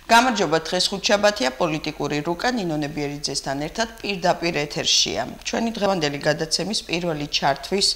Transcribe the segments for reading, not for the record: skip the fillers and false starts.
გამარჯობა, დღეს ხუთშაბათია, პოლიტიკური რუკა ნინო ნებიერიძესთან ერთად პირდაპირ ეთერშია. ჩვენი დღევანდელი გადაცემის პირველი ჩართვის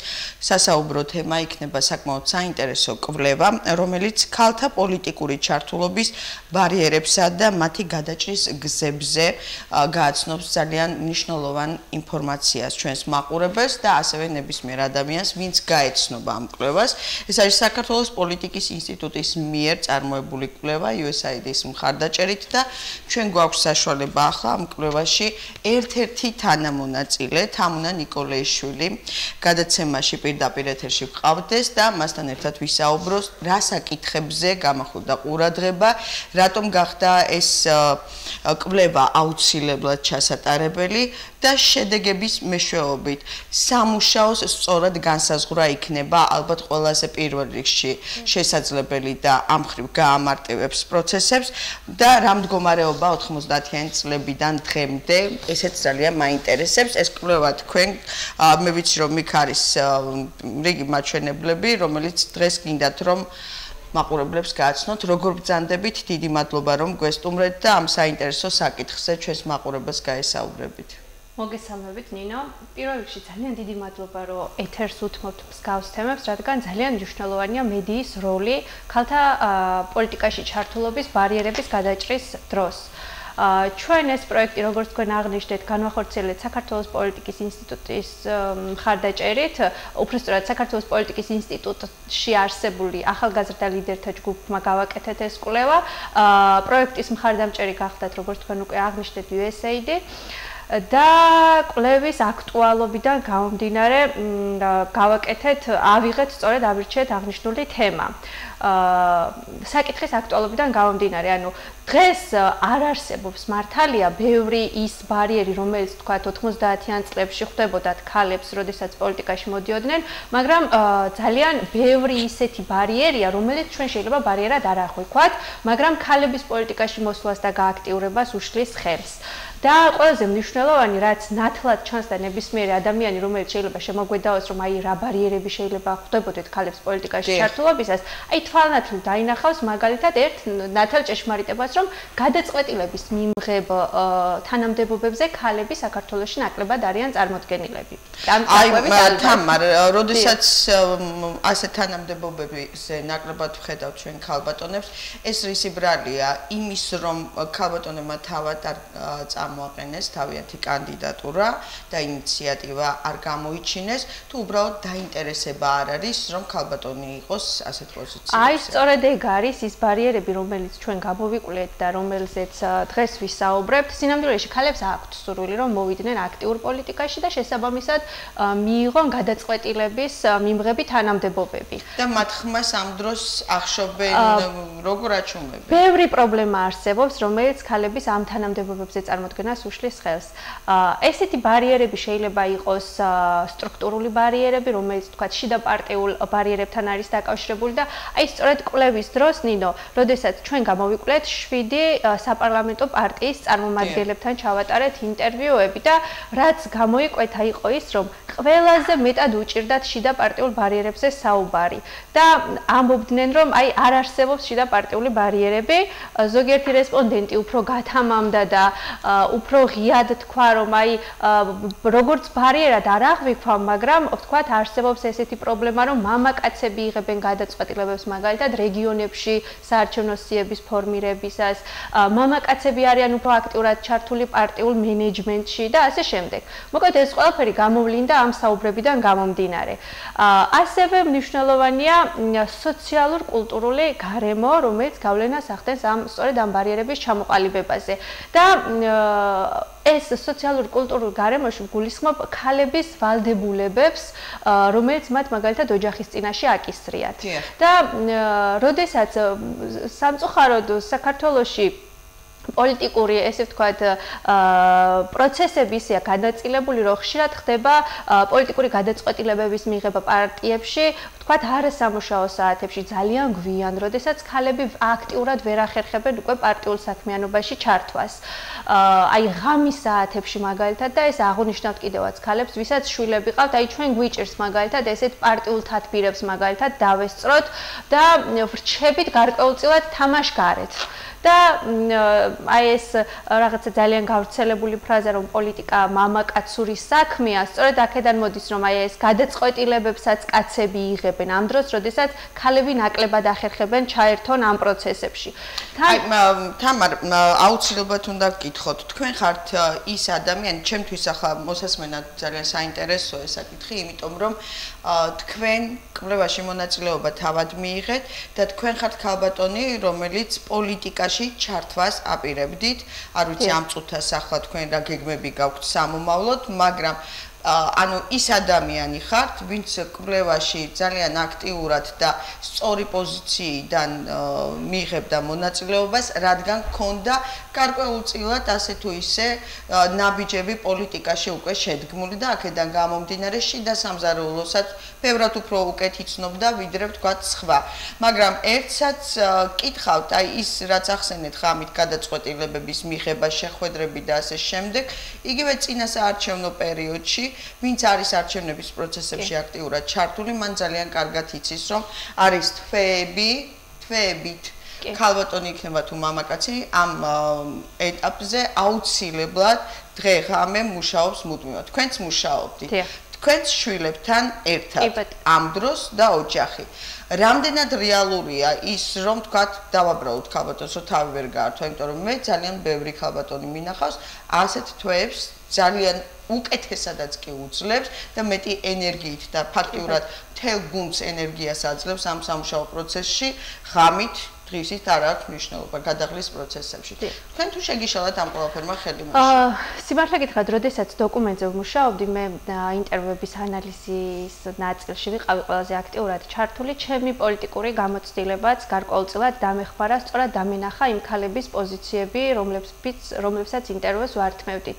სასაუბრო თემა იქნება საკმაოდ საინტერესო კვლევა, რომელიც ქალთა პოლიტიკური ჩართულობის ბარიერებსა და მათი გადაჭრის გზებზე გააცნობს ძალიან მნიშვნელოვან ინფორმაციას ჩვენს მაყურებელს და ასევე ნებისმიერ ადამიანს, ვინც გაეცნობა ამ კვლევას. ეს არის საქართველოს პოლიტიკის ინსტიტუტის მიერ წარმოებული კვლევა USAID-ის მხარდაჭერით და ჩვენ გვაქვს საშუალება ახლა ამ კვლევაში ერთ-ერთი თანამონაწილე თამუნა ნიკოლეიშვილი გადაცემაში პირდაპირ ეთერში ვყავდეს და მასთან ერთად ვისაუბროს რა საკითხებზე გამახვილდა ყურადღება, რატომ გახდა ეს კვლევა აუცილებლად ჩასატარებელი და შედეგების მეშვეობით სამუშაოს სწორად განსაზღვრა იქნება ალბათ ყველაზე პირველ რიგში შესაძლებელი და ამ ხრივ გაამარტივებს პროცესებს და რა მდგომარეობა 90-იანი წლებიდან დღემდე ესეც ძალიან მაინტერესებს ეს კვლევა თქვენ მე ვიცი რომ იქ არის რიგი მაჩვენებლები რომელიც დღეს გინდათ რომ მაყურებლებს გააცნოთ როგორ ბრძანდებით დიდი მადლობა რომ გვესტუმრეთ და ამ საინტერესო საკითხზე ჩვენს მაყურებელს გაესაუბრებით მოგესალმებით ნინო. პირველ რიგში ძალიან დიდი მადლობა რომ ეთერს უთმობთ მსგავს თემებს, რადგან ძალიან მნიშვნელოვანია მედიის როლი ქალთა პოლიტიკაში ჩართულობის ბარიერების გადაჭრის დროს. ჩვენ ეს პროექტი, როგორც თქვენ აღნიშნეთ, განვახორციელეთ საქართველოს პოლიტიკის ინსტიტუტის მხარდაჭერით, უბრალოდ საქართველოს პოლიტიკის ინსტიტუტში არსებული ახალგაზრდა ლიდერთა ჯგუფმა გავაკეთეთ ეს კვლევა. პროექტის მხარდამჭერი გახდათ, როგორც თქვენ უკვე აღნიშნეთ, USAID. და კვლევის აქტუალობიდან გამომდინარე გავაკეთეთ, ავიღეთ სწორედ აბრჩიეთ აღნიშნული თემა. საკითხის აქტუალობიდან გამომდინარე, ანუ დღეს არ არსებობს მართალია ბევრი ის ბარიერი, რომელიც თქვა 90-იან წლებში ხვდებოდათ ქალებს, როდესაც პოლიტიკაში მოდიოდნენ, მაგრამ ძალიან ბევრი ისეთი ბარიერია, რომელიც ჩვენ შეიძლება ბარიერად არ აღვიქვათ, მაგრამ ქალების პოლიტიკაში მოსვლას და გააქტიურებას უშლის ხელს. და ყველაზე მნიშვნელოვანი, რაც ნათლად ჩანს და ნებისმიერი ადამიანი, რომელიც შეიძლება შემოგვედაოს, რომ აი რა ბარიერები შეიძლება ხვდებოდეთ ქალებს პოლიტიკაში ჩართულობისას, აი თვალნათლივ დაინახავს მაგალითად ერთ ნათელ ჭეშმარიტებას, რომ გადაწყვეტილების მიმღებ თანამდებობებზე ქალები საქართველოში ნაკლებად არიან წარმოდგენილები. აი თამარ, როდესაც ასე თანამდებობებზე ნაკლებად ვხედავთ ჩვენ ქალბატონებს, ეს რისი ბრალია იმის, რომ ქალბატონებმა თავად არ მოაყენეს თავიანთი კანდიდატურა და ინიციატივა არ გამოიჩინეს თუ უბრალოდ დაინტერესება არ არის რომ ქალბატონი იყოს ასეთ პოზიციებში. აი სწორედ ეგ არის ის ბარიერები რომელიც ჩვენ გამოვიკვლეთ და რომელზეც დღეს ვისაუბრებთ. სინამდვილეში ქალებს აქვთ სურვილი რომ მოვიდნენ აქტიურ პოლიტიკაში და შესაბამისად მიიღონ გადაწყვეტილების მიმღები თანამდებობები. და მათ ხმას ამ დროს ახშობენ როგორ აჩვენებენ? ბევრი პრობლემა არსებობს რომელიც ქალების ამ თანამდებობებზე წარმოდგენას უშლის ხელს. ესეთი ბარიერები შეიძლება იყოს სტრუქტურული ბარიერები, რომელიც თქვა შიდა პარტიულ ბარიერებთან არის დაკავშირებული და აი სწორედ კვლევის დროს ნინო, როდესაც ჩვენ გამოვიკვლეთ 7 საპარლამენტო პარტიის წარმომადგენლებთან ჩავატარეთ ინტერვიუები და რაც გამოიკვეთა იყო ის, რომ ყველაზე მეტად უჭირდათ შიდა პარტიულ ბარიერებზე საუბარი და ამბობდნენ, რომ აი არ არსებობს შიდა პარტიული ბარიერები, ზოგიერთი რესპონდენტი უფრო გათამამდა და უფრო ღიად თქვა, რომ აი როგორც ბარიერად არ აღვიქვა, მაგრამ ვთქვათ, არსებობს ესეთი პრობლემა, რომ მამაკაცები იღებენ გადაწყვეტილებებს მაგალითად რეგიონებში საარჩევნო სიების ფორმირებისას, მამაკაცები არიან უფრო აქტიურად ჩართული პარტიულ მენეჯმენტში და ასე შემდეგ. მოკლედ ეს ყველაფერი გამოვლინდა ამ საუბრებიდან გამომდინარე. ასევე მნიშვნელოვანია სოციალურ-კულტურული გარემო, რომელიც გავლენას ახდენს სწორედ ამ ბარიერების ჩამოყალიბებაზე. და ეს სოციალურ კულტურულ გარემოში გულისხმობ ქალების ვალდებულებებს, რომელიც მათ მაგალითად ოჯახის წინაშე აკისრიათ. და როდესაც სამწუხაროდ საქართველოში პოლიტიკური, ესე ვთქვათ, პროცესები ისეა გადაწილებული, რომ ხშირად ხდება პოლიტიკური გადაწყვეტილებების მიღება პარტიებში, თქვათ არასამუშაო საათებში ძალიან გვიან, როდესაც ქალები აქტიურად ვერ ახერხებენ უკვე პარტიულ საქმიანობაში ჩართვას. აი ღამის საათებში მაგალითად და ეს აღნიშნავთ კიდევაც ქალებს, ვისაც შვილები ყავთ, აი ჩვენ გვიჭირს მაგალითად ესეთ პარტიულ თათბირებს მაგალითად დავესწროთ და ვრჩებით გარკვეულწილად თამაშგარეთ. და აი ეს რაღაცა ძალიან გავრცელებული ფრაზა რომ პოლიტიკა მამაკაცური საქმეა, სწორედ აქედან მოდის რომ აი ეს გადაწყვეტილებებსაც კაცები იღებენ ამ დროს, როდესაც ქალები ნაკლებად ახერხებენ ჩაერთონ ამ პროცესებში. აი თამარ, აუცილებლად უნდა გკითხოთ, თქვენ ხართ ის ადამიანი, ჩემთვის ახლა მოსასმენად ძალიან საინტერესოა ეს საკითხი, იმიტომ რომ თქვენ კვლევაში მონაწილეობა თავად მიიღეთ და თქვენ ხართ ქალბატონი, რომელიც პოლიტიკაში ჩართვას აპირებდით. არ ვიცი ამ წუთას ახლა თქვენ რა გეგმები გაქვთ სამომავლოდ, მაგრამ ანუ ის ადამიანი ხართ, ვინც კვლევაში ძალიან აქტიურად და სწორი პოზიციიდან მიიღებდა მონაწილეობას, რადგან ქონდა გარკვეულწილად ასე თუ ისე ნაბიჯები პოლიტიკაში უკვე შედგმული და აქედან გამომდინარე შიდა სამზარეულოსაც ბევრად უფრო უკეთ იცნობდა ვიდრე ვთქვათ სხვა. მაგრამ ერთსაც კითხავთ, აი ის რაც ახსენეთ ღამით გადაწყვეტილებების მიღება, შეხვედრები და ასე შემდეგ, იგივე წინა საარჩევნო პერიოდში ვინც არის არჩევნების პროცესებში აქტიურად ჩართული, მან ძალიან კარგად იცის, რომ არის თვეებით ქალბატონი იქნება თუ მამაკაცი, ამ ეტაპზე აუცილებლად დღე-ღამე მუშაობს მუდმივად. თქვენც მუშაობდით. თქვენც შვილებთან ერთად ამ დროს და ოჯახი. რამდენად რეალურია ის, რომ თქვათ, დავაბრალოთ ქალბატონს, რომ თავი ვერ გაართვა, იმიტომ რომ მე ძალიან ბევრი ქალბატონი მინახავს, ასეთ თვეებს ძალიან უკეთესადაც კი უძლებს და მეტი ენერგიით და ფაქტიურად მთელ გუნდს ენერგიას აძლევს ამ სამუშაო პროცესში ღამით დღისით არ აქვს მნიშვნელობა გადაღლის პროცესებში. თქვენ თუ შეგიშალათ ამ ყველაფერმა ხელი მოშლა? სიმართლე გითხრათ, როდესაც დოკუმენტზე ვმუშაობდი, მე ინტერვიუების ანალიზის ნაწილში ვიყავი ყველაზე აქტიურად ჩართული, ჩემი პოლიტიკური გამოცდილებაც გარკვეულწილად დამეხმარა, სწორად დამენახა იმ ქალების პოზიციები, რომლებსაც ინტერვიუს ვართმევდით.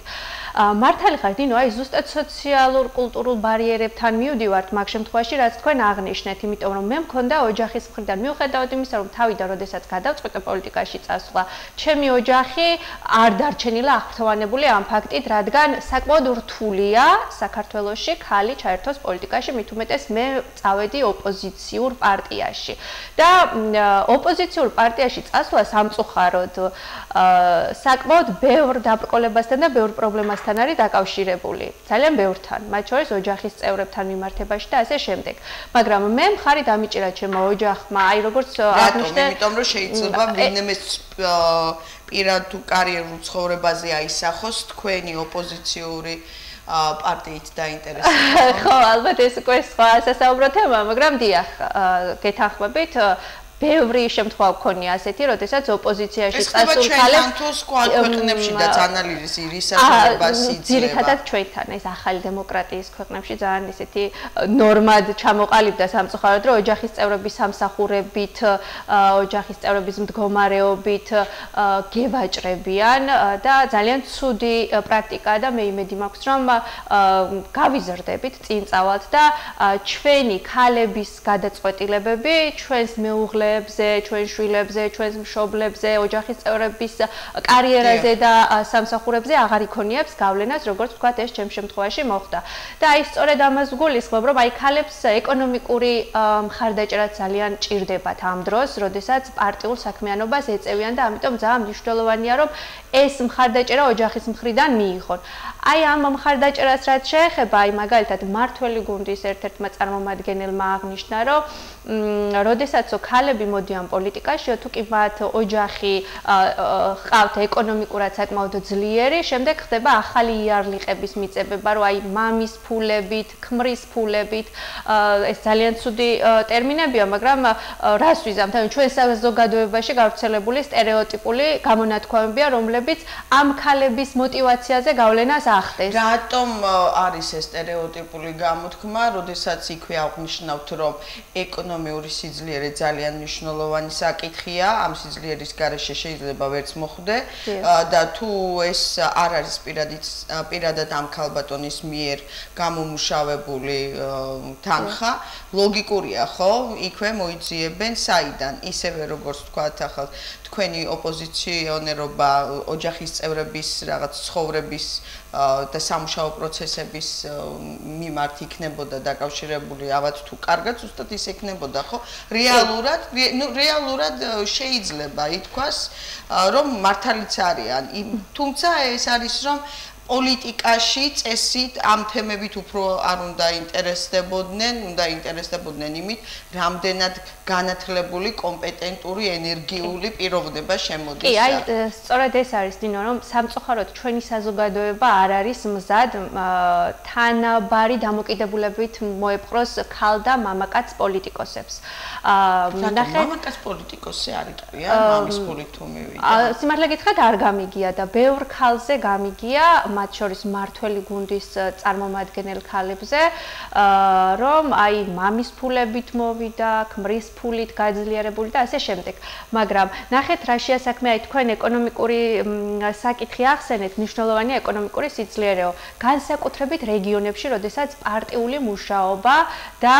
მართალი ხარ, დინო, აი ზუსტად სოციალურ კულტურულ ბარიერებთან მივდივართ მაგ შემთხვევაში, რაც თქვენ აღნიშნეთ, იმიტომ რომ მე მქონდა ოჯახის მხრიდან მიუხედავად იმისა, რომ თავიდან როდესაც გადავწყვიტე პოლიტიკაში წასვლა, ჩემი ოჯახი არ დარჩენილა აღფრთოვანებული ამ ფაქტით, რადგან საკმაოდ რთულია საქართველოში ქალი ჩაერთოს პოლიტიკაში, მით უმეტეს მე წავედი ოპოზიციურ პარტიაში. და ოპოზიციურ პარტიაში წასვლა სამწუხაროდ საკმაოდ ბევრ დაბრკოლებასთან და ბევრ პრობლემასთან არის დაკავშირებული. ძალიან ბევრთან, მათ შორის ოჯახის წევრებთან მიმართებაში და ასე შემდეგ. მაგრამ მე მხარი დამიჭირა ჩემო ოჯახმა, აი როგორც აღნიშნე, იმიტომ რომ შეიძლება ვინმე პირად თუ კარიერულ ცხოვრებაზე აისახოს თქვენი ოპოზიციური პარტიით დაინტერესებული. ხო, ალბათ ეს უკვე სხვა სასაუბრო თემა, მაგრამ დიახ, გეთანხმებით ბევრი შემთხვევა გქონია ასეთი, როდესაც ოპოზიციაში წასულ ქალებს თუ სხვა ქვეყნებშიც ანალიზი რისაშორებას იძლევა. ძირითადად ჩვენთან, ეს ახალი დემოკრატიის ქვეყნებში ძალიან ისეთი ნორმად ჩამოყალიბდა სამწუხაროდ, რომ ოჯახის წევრების სამსახურებით, ოჯახის წევრების მდგომარეობით გევაჭრებიან და ძალიან ცუდი პრაქტიკაა და მე იმედი მაქვს, რომ გავიზრდებით, წინ წავალთ და ჩვენი ქალების გადაწყვეტილებები ჩვენს მეუღლე ჩვენ შვილებზე, ჩვენს მშობლებზე, ოჯახის წევრების კარიერაზე და სამსახურებზე აღარ იქონიებს გავლენას, როგორც ვთქვათ, ეს ჩემ შემთხვევაში მოხდა. და აი სწორედ ამას ვგულისხმობ, რომ აი ქალებს ეკონომიკური მხარდაჭერა ძალიან ჭირდებათ ამ დროს, როდესაც პარტიულ საქმიანობას ეწევიან და ამიტომ ძალიან მნიშვნელოვანია, რომ ეს მხარდაჭერა ოჯახის მხრიდან მიიღონ. აი ამ მხარდაჭერას რაც შეეხება, აი მაგალითად მართველი გუნდის ერთ-ერთმა წარმომადგენელმა აღნიშნა, რომ როდესაც ქალები მოდიან პოლიტიკაში, თუ კი მათ ოჯახი ყავთ ეკონომიკურად საკმაოდ ძლიერი, შემდეგ ხდება ახალი იარლიყების მიწებება, რომ აი მამის ფულებით, ქმრის ფულებით, ეს ძალიან ცუდი ტერმინებია, მაგრამ რას ვიზამთ? ანუ ჩვენ საზოგადოებაში გავრცელებული სტერეოტიპული გამონათქვამებია, რომლებიც ამ ქალების мотиваციაზე გავლენას ახდენს. რატომ არის ეს სტერეოტიპული გამოთქმა, როდესაც იქვე აღნიშნავთ, რომ ეკონომიკური სიძლიერე ძალიან მნიშვნელოვანი საკითხია, ამ სიძლიერის გარეშე შეიძლება ვერც მოხვდე და თუ ეს არ არის პირადად ამ ქალბატონის მიერ გამომუშავებული თანხა, ლოგიკურია, ხო? იქვე მოიძიებენ საიდან, ისევე როგორც თქვათ ახლა თქვენი ოპოზიციონერობა ოჯახის წევრების რაღაც ცხოვრების და სამუშაო პროცესების მიმართ იქნებოდა დაკავშირებული, ავად თუ კარგად ზუსტად ის იქნებოდა, ხო? რეალურად შეიძლება ითქვას, რომ მართალიც არიან, თუმცა ეს არის რომ პოლიტიკაში წესით ამ თემებით უფრო არ უნდა ინტერესდებოდნენ იმით, რამდენად განათლებული, კომპეტენტური, ენერგიული პიროვნება შემოდის. კი, აი, სწორედ ეს არის დინო, რომ სამწუხაროდ ჩვენი საზოგადოება არ არის მზად თანაბარი დამოკიდებულებით მოეპყროს ქალ და მამაკაც პოლიტიკოსებს. მამაკაც პოლიტიკოსი არ იყრია, მამის ფულით თუ მივიდა. სიმართლე გითხრათ, არ გამიგია და ბევრ ქალზე გამიგია, მათ შორის მართველი გუნდის წარმომადგენელ ქალებზე, რომ აი მამის ფულებით მოვიდა, ქმრის ფულით გაძლიერებული და ასე შემდეგ. მაგრამ ნახეთ რა შეასაქმე, აი თქვენ ეკონომიკური საკითხი ახსენეთ, მნიშვნელოვანია ეკონომიკური სიძლიერეო. განსაკუთრებით რეგიონებში, როდესაც პარტიული მუშაობა და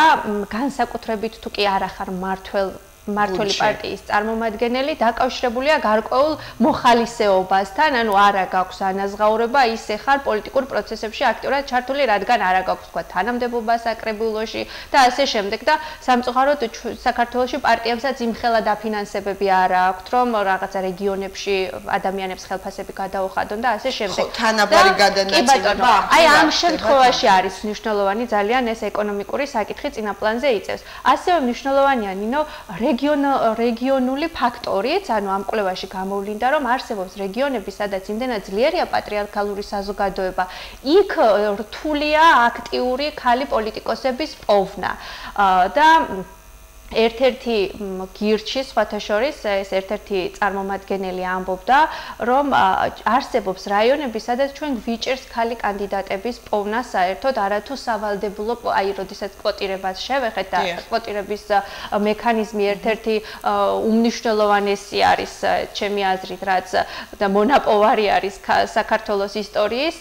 განსაკუთრებით თუ კი არ ახარ მართველი პარტიის წარმომადგენელი დაკავშირებულია გარკვეულ მოხალისეობასთან, ანუ არა გაქვს ანაზღაურება, ისე ხარ პოლიტიკურ პროცესებში აქტიურად ჩართული, რადგან არა გაქვს თქვა თანამდებობა საკრებულოში და ასე შემდეგ და სამწუხაროდ საქართველოში პარტიებსაც იმხელა დაფინანსებები არ აქვთ, რომ რაღაცა რეგიონებში ადამიანებს ხელფასები გადაუხადონ და ასე შემდეგ. თანაბარი გადანაწილება. აი ამ შემთხვევაში არის მნიშვნელოვანი ძალიან ეს ეკონომიკური საკითხი წინა პლანზე იწევს. ასევე მნიშვნელოვანია ნინო რეგიონული ფაქტორიც, ანუ ამ კვლევაში გამოვლინდა, რომ არსებობს რეგიონები, სადაც იმდენად ძლიერია პატრიარქალური საზოგადოება, იქ რთულია აქტიური ქალი პოლიტიკოსების პოვნა. და ერთ-ერთი გირჩი სხვათა შორის ეს ერთ-ერთი წარმომადგენელი ამბობდა, რომ არსებობს რაიონები, სადაც ჩვენ გვიჭერს ქალი კანდიდატების პოვნა საერთოდ არათუ სავალდებულო, აი, როდესაც კვოტირებას შევეხეთ და კვოტირების მექანიზმი ერთ-ერთი უმნიშვნელოვანესი არის ჩემი აზრით, რაც და მონაპოვარი არის საქართველოს ისტორიის.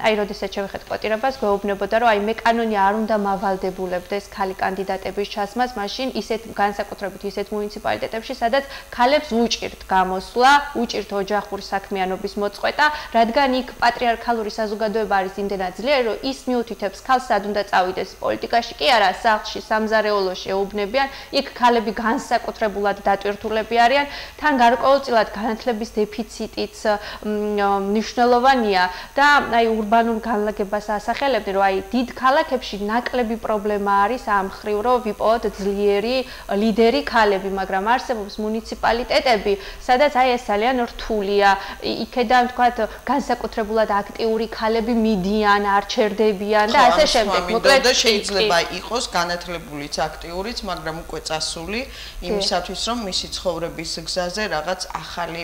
აი, როდესაც შევეხეთ კვოტირებას, გვეუბნებოდა, რომ აი, მე კანონი არ უნდა მავალდებულებდეს ქალი კანდიდატების ჩასვლას, მაშინ ისეთ განსაკუთრებით ისეთ მუნიციპალიტეტებში, სადაც ქალებს უჭირთ გამოსვლა, უჭირთ ოჯახური საქმიანობის მოწყვეტა, რადგან იქ პატრიარქალური საზოგადოება არის იმდენად ძლიერი, რომ ის მიუთითებს ქალს სად უნდა წავიდეს პოლიტიკაში, კი არა, სახლში, სამზარეულოში ეუბნებიან, იქ ქალები განსაკუთრებულად დატვირთულები არიან, თან გარკვეულწილად განათლების დეფიციტიც მნიშვნელოვანია და აი ურბანულ განლაგებას ასახელებდნენ, რომ აი დიდ ქალაქებში ნაკლები პრობლემა არის ამ ხრივ, რომ ვიპოვოთ ძლიერი ლიდერი ქალები, მაგრამ არსებობს მუნიციპალიტეტები, სადაც აი ეს ძალიან რთულია. იქედან თქვათ განსაკუთრებულად აქტიური ქალები მიდიან, არ ჩერდებიან და ასე შემდეგ. მოკლედ შეიძლება იყოს განათლებულიც, აქტიურიც, მაგრამ უკვე წასული იმისათვის, რომ მისი ცხოვრების გზაზე რაღაც ახალი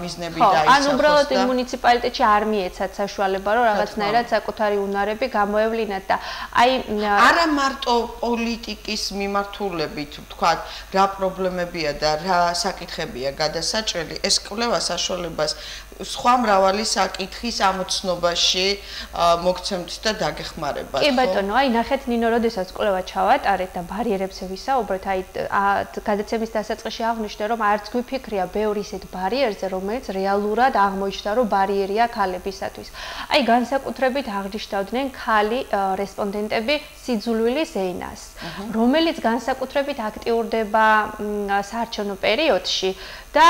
მიზნები დაისახოს. ან უბრალოდ მუნიციპალიტეტში არ მიეცათ საშუალება, რომ რაღაცნაირად საკუთარი უნარები გამოევლინათ და აი არა მარტო პოლიტიკის მიმართულებით, თქვათ, რა პრობლემებია და რა საკითხებია გადასაჭრელი, ეს კვლევა საშუალებას სხვა მრავალი საკითხის ამოცნობაში მოგცემთ და დაგეხმარებათ. კი ბატონო, აი ნახეთ ნინო, როდესაც კვლევა ჩავატარეთ და ბარიერებზე ვისაუბრეთ, აი გადაცემის დასაწყისში აღვნიშნე, რომ არც გვიფიქრია ბევრი ისეთ ბარიერზე, რომელიც რეალურად აღმოჩნდა, რომ ბარიერია ქალებისათვის. აი განსაკუთრებით აღნიშნავდნენ ქალი რესპონდენტები სიძულვილის ენას, რომელიც განსაკუთრებით აქტიურდება საარჩევნო პერიოდში და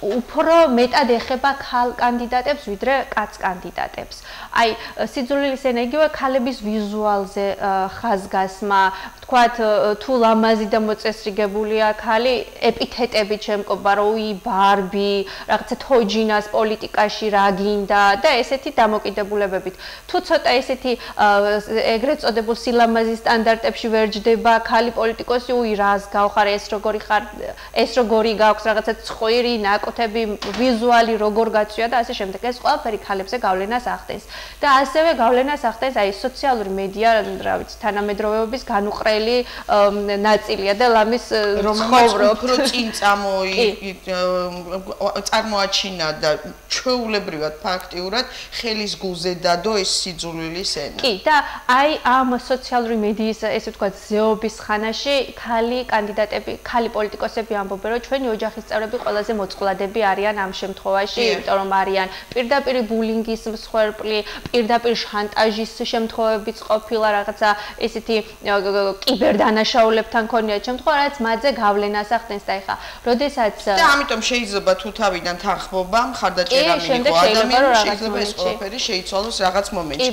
უფრო მეტად ეხება ქალ კანდიდატებს ვიდრე კაც კანდიდატებს. აი სიძულვილის ენა იგივე ქალების ვიზუალზე ხაზგასმა, თქვათ თუ ლამაზი და მოწესრიგებულია ქალი, ეპითეტებით შემკობა, რომ უი ბარბი, რაღაცა თოჯინას პოლიტიკაში რა გინდა და ესეთი დამოკიდებულებებით. თუ ცოტა ესეთი ეგრეთ წოდებულ სილამაზის სტანდარტებში ვერ ჯდება ქალი პოლიტიკოსი, უი რას გავხარ, ეს როგორი ხარ, ეს როგორი გაქვს რაღაცა მსხვილი ნაკუთები, ვიზუალი როგორ გაწვია და ასე შემდეგ. ეს ყველაფერი ქალებზე გავლენას ახდენს. და ასევე გავლენას ახდენს აი სოციალური მედია, რა ვიცი, თანამედროვეობის განუყრელი ნაწილია და ლამის ცხოვრობ. უფრო წინ წარმოაჩინა და ჩვეულებრივად ფაქტიურად ხელის გულზე დადო ეს სიძულვილის ენა. კი, და აი ამ სოციალური მედიის ესე ვთქვათ ზეობის ხანაში ქალი კანდიდატები, ქალი პოლიტიკოსები ამბობენ, რომ ჩვენი ოჯახის წევრები ყველაზე მოწყვლადები არიან ამ შემთხვევაში, იმიტომ რომ არიან პირდაპირ ბულინგის მსხვერპლი, პირდაპირ შანტაჟის შემთხვევებიც ყოფილა, რაღაცა ესეთი კიბერდანაშაულებთან ქონიათ შემთხვევა, რაც მათზე გავლენას ახდენს და ეხა, როდესაც და ამიტომ შეიძლება თუ თავიდან თანხმობა, მხარდაჭერა მიიღო ადამიანს, შეიძლება ეს ყველაფერი შეიცვალოს რაღაც მომენტში.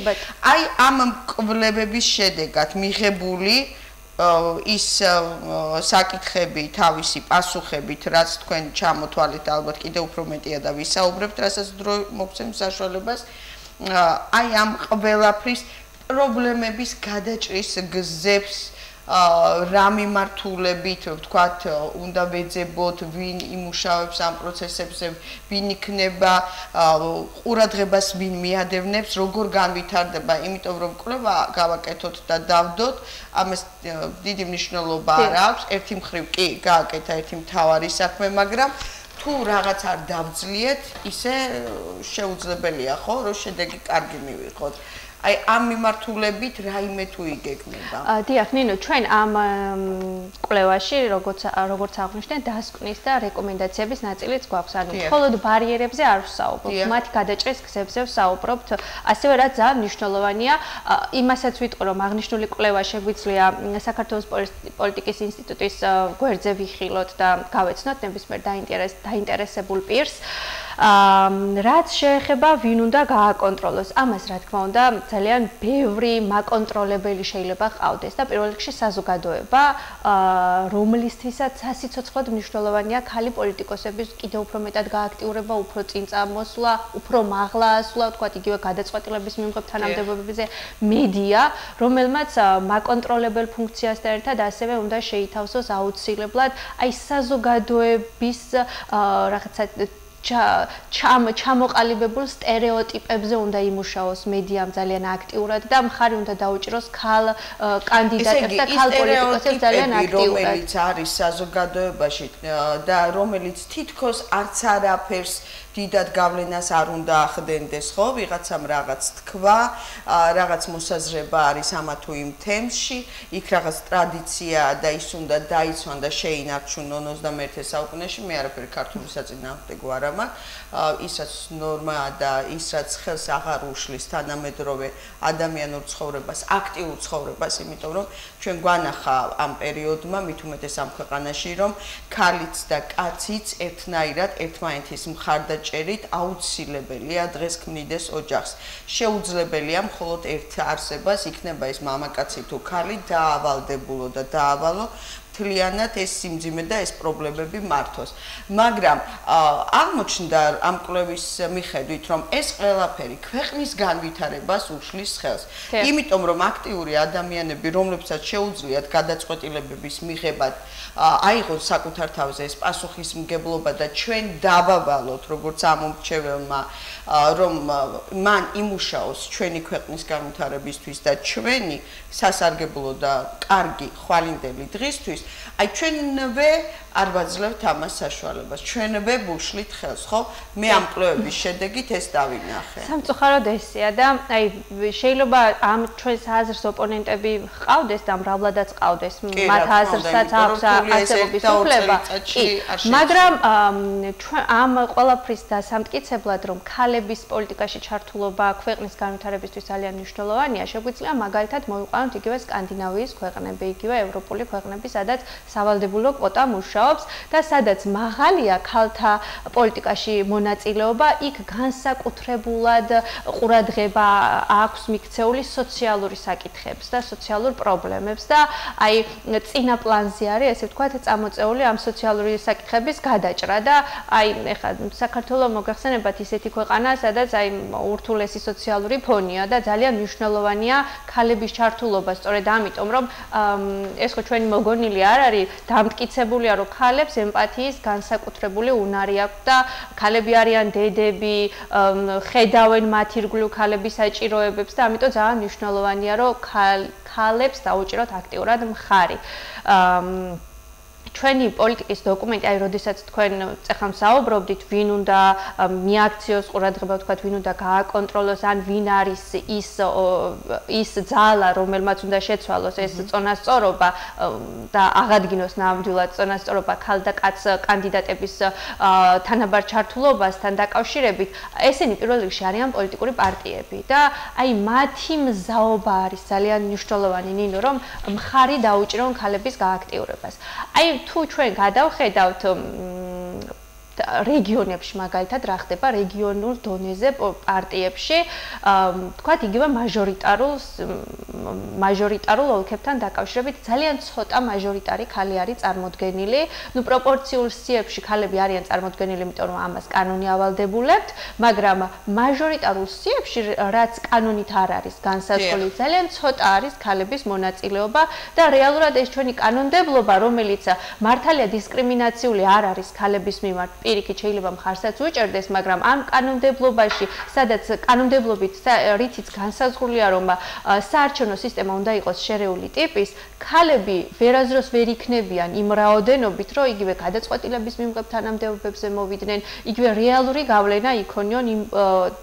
აი ამ კვლევების შედეგად მიღებული ის საკითხები თავისი პასუხებით, რაც თქვენ ჩამოთვალეთ, ალბათ კიდევ უფრო მეტია და ვისაუბრებთ, რასაც დრო მოგცემს საშუალებას, აი ამ ყველაფრის პრობლემების გადაჭრის გზებს რა მიმართულებით, ვთქვათ, უნდა ვეძებოთ, ვინ იმუშავებს ამ პროცესებზე, ვინ იქნება ყურადღებას ვინ მიადევნებს, როგორ განვითარდება, იმიტომ რომ კვლევა გავაკეთოთ და დავდოთ, ამას დიდი მნიშვნელობა არ აქვს, ერთი მხრივ კი გააკეთა ერთი მთავარი საქმე, მაგრამ თუ რაღაც არ დავძლიეთ, ისე შეუძლებელია, ხო, რომ შედეგი კარგი მივიღოთ. აი ამ მიმართულებით რაიმე თუ იგეგმება. დიახ, ნინო, ჩვენ ამ კვლევაში როგორც აღვნიშნეთ, დასკვნის და რეკომენდაციების ნაწილიც გვაქვს. ანუ მხოლოდ ბარიერებზე არ ვსაუბრობთ, მათი გადაჭრის გზებზე ვსაუბრობთ. ასევე რაც ძალიან მნიშვნელოვანია, იმასაც ვიტყვი, რომ აღნიშნული კვლევა შეგვიძლია საქართველოს პოლიტიკის ინსტიტუტის გვერდზე ვიხილოთ და გავეცნოთ ნებისმიერ დაინტერესებულ პირს. რაც შეეხება ვინ უნდა გააკონტროლოს, ამას რა თქმა უნდა ძალიან ბევრი მაკონტროლებელი შეიძლება ყავდეს და პირველ რიგში საზოგადოება, რომლისთვისაც სასიცოცხლოდ მნიშვნელოვანია ქალი პოლიტიკოსების კიდევ უფრო მეტად გააქტიურება, უფრო წინ წამოსვლა, უფრო მაღლა ასვლა, თქვათ იგივე გადაწყვეტილების მიმღებ თანამდებობებზე, მედია, რომელმაც მაკონტროლებელ ფუნქციას და ერთად ასევე უნდა შეითავსოს აუცილებლად აი საზოგადოების რაღაცა ჩამოყალიბებულ სტერეოტიპებზე უნდა იმუშაოს მედიამ ძალიან აქტიურად და მხარი უნდა დაუჭიროს ქალ კანდიდატებს და ქალ პოლიტიკოსებს ძალიან აქტიურად. რომელიც არის საზოგადოებაში და რომელიც თითქოს არც არაფერს დიდად გავლენას არ უნდა ახდენდეს, ხო, ვიღაცამ რაღაც თქვა, რაღაც მოსაზრება არის ამა თუ იმ თემში, იქ რაღაც ტრადიცია და ის უნდა დაიცვან და შეინარჩუნონ 21 საუკუნეში, მე არაფერი ქართული საწინააღმდეგო არ მაქვს, ის რაც ნორმაა და ის რაც ხელს აღარ უშლის თანამედროვე ადამიანურ ცხოვრებას, აქტიურ ცხოვრებას, იმიტომ რომ ჩვენ გვანახა ამ პერიოდმა, მით უმეტეს ამ ქვეყანაში, რომ ქალიც და კაციც ერთნაირად ერთმანეთის მხარდაჭერით აუცილებელია დღეს ქმნიდეს ოჯახს. შეუძლებელია მხოლოდ ერთ არსებას, იქნება ეს მამაკაცი თუ ქალი, დაავალდებულო და დაავალო მთლიანად ეს სიმძიმე და ეს პრობლემები მართოს. მაგრამ აღმოჩნდა ამ კვლევის მიხედვით, რომ ეს ყველაფერი ქვეყნის განვითარებას უშლის ხელს. იმიტომ რომ აქტიური ადამიანები, რომლებსაც შეუძლიათ გადაწყვეტილებების მიღებად აიღოთ საკუთარ თავზე ეს პასუხისმგებლობა და ჩვენ დავავალოთ როგორც ამომრჩეველმა, რომ მან იმუშაოს ჩვენი ქვეყნის განვითარებისთვის და ჩვენი სასარგებლო და კარგი ხვალინდელი დღისთვის, აი ჩვენვე არ ვაძლევთ ამას საშუალებას. ჩვენვე ვუშლით ხელს, ხო? მე ამ კვლევების შედეგით ეს დავინახე. სამწუხაროდ ესეა და აი შეიძლება ამ ჩვენს აზრს ოპონენტები ყავდეს და მრავლადაც ყავდეს, მათ აზრსაც აქვს არსებობის უფლება. მაგრამ ამ ყველაფრის დასამტკიცებლად, რომ ქალების პოლიტიკაში ჩართულობა ქვეყნის განვითარებისთვის ძალიან მნიშვნელოვანია, შეგვიძლია მაგალითად მოვიყვანოთ იგივე სკანდინავიის ქვეყნები, იგივე ევროპული ქვეყნები, სადაც სავალდებულო კვოტა მუშაობს და სადაც მაღალია ქალთა პოლიტიკაში მონაწილეობა, იქ განსაკუთრებულად ყურადღება აქვს მიქცეული სოციალური საკითხებს და სოციალურ პრობლემებს და აი წინა პლანზე არის, ესე ვთქვათ, წამოწეული ამ სოციალური საკითხების გადაჭრა და აი ეხლა საქართველო მოგახსენებათ ისეთი ქვეყანა, სადაც აი ურთულესი სოციალური ფონია და ძალიან მნიშვნელოვანია ქალების ჩართულობა, სწორედ ამიტომ, რომ ეს ხო ჩვენი მოგონილი არ არის, დამტკიცებულია, რომ ხალებს ემპათიის განსაკუთრებული უნარი აქვს და ქალები არიან დედები, ხედავენ მათ ირგვლივ ქალების საჭიროებებს და ამიტომ ძალიან მნიშვნელოვანია რომ ქალებს დაუჭიროთ აქტიურად მხარი. ჩვენი პოლიტიკის დოკუმენტი, აი, როდესაც თქვენ წეხლა საუბრობდით, ვინ უნდა მიაქციოს ყურადღება, თქვათ, ვინ უნდა გააკონტროლოს, ან ვინ არის ის ძალა, რომელმაც უნდა შეცვალოს ეს წონასწორობა და აღადგინოს ნამდვილად წონასწორობა ქალ და კაც კანდიდატების თანაბარ ჩართულობასთან დაკავშირებით, ესენი პირველ რიგში არიან პოლიტიკური პარტიები და აი მათი მზაობა არის ძალიან მნიშვნელოვანი, ნინო, რომ მხარი დაუჭირონ ქალების გააქტიურებას. აი თუ ჩვენ გადავხედავთ რეგიონებში მაგალითად რა ხდება რეგიონულ დონეზე პარტიებში თქვათ იგივე მაჟორიტარულ ოლქებთან დაკავშირებით ძალიან ცოტა მაჟორიტარი ქალი არის წარმოდგენილი ნუ პროპორციულ სიებში ქალები არიან წარმოდგენილი იმიტომ რომ ამას კანონი ავალდებულებთ მაგრამ მაჟორიტარულ სიებში რაც კანონით არ არის განსაზღვრული ძალიან ცოტა არის ქალების მონაწილეობა და რეალურად ეს ჩვენი კანონმდებლობა რომელიც მართალია დისკრიმინაციული არ არის ქალების მიმართ პირიქით შეიძლება მხარსაც უჭერდეს, მაგრამ ამ კანონმდებლობაში, სადაც კანონმდებლობით რითიც განსაზღვრულია, რომ საარჩევნო სისტემა უნდა იყოს შერეული ტიპის, ქალები ვერაზროს ვერ იქნებიან იმ რაოდენობით, რომ იგივე გადაწყვეტილების მიღებ თანამდებობებზე მოვიდნენ, იგივე რეალური გავლენა იქონიონ იმ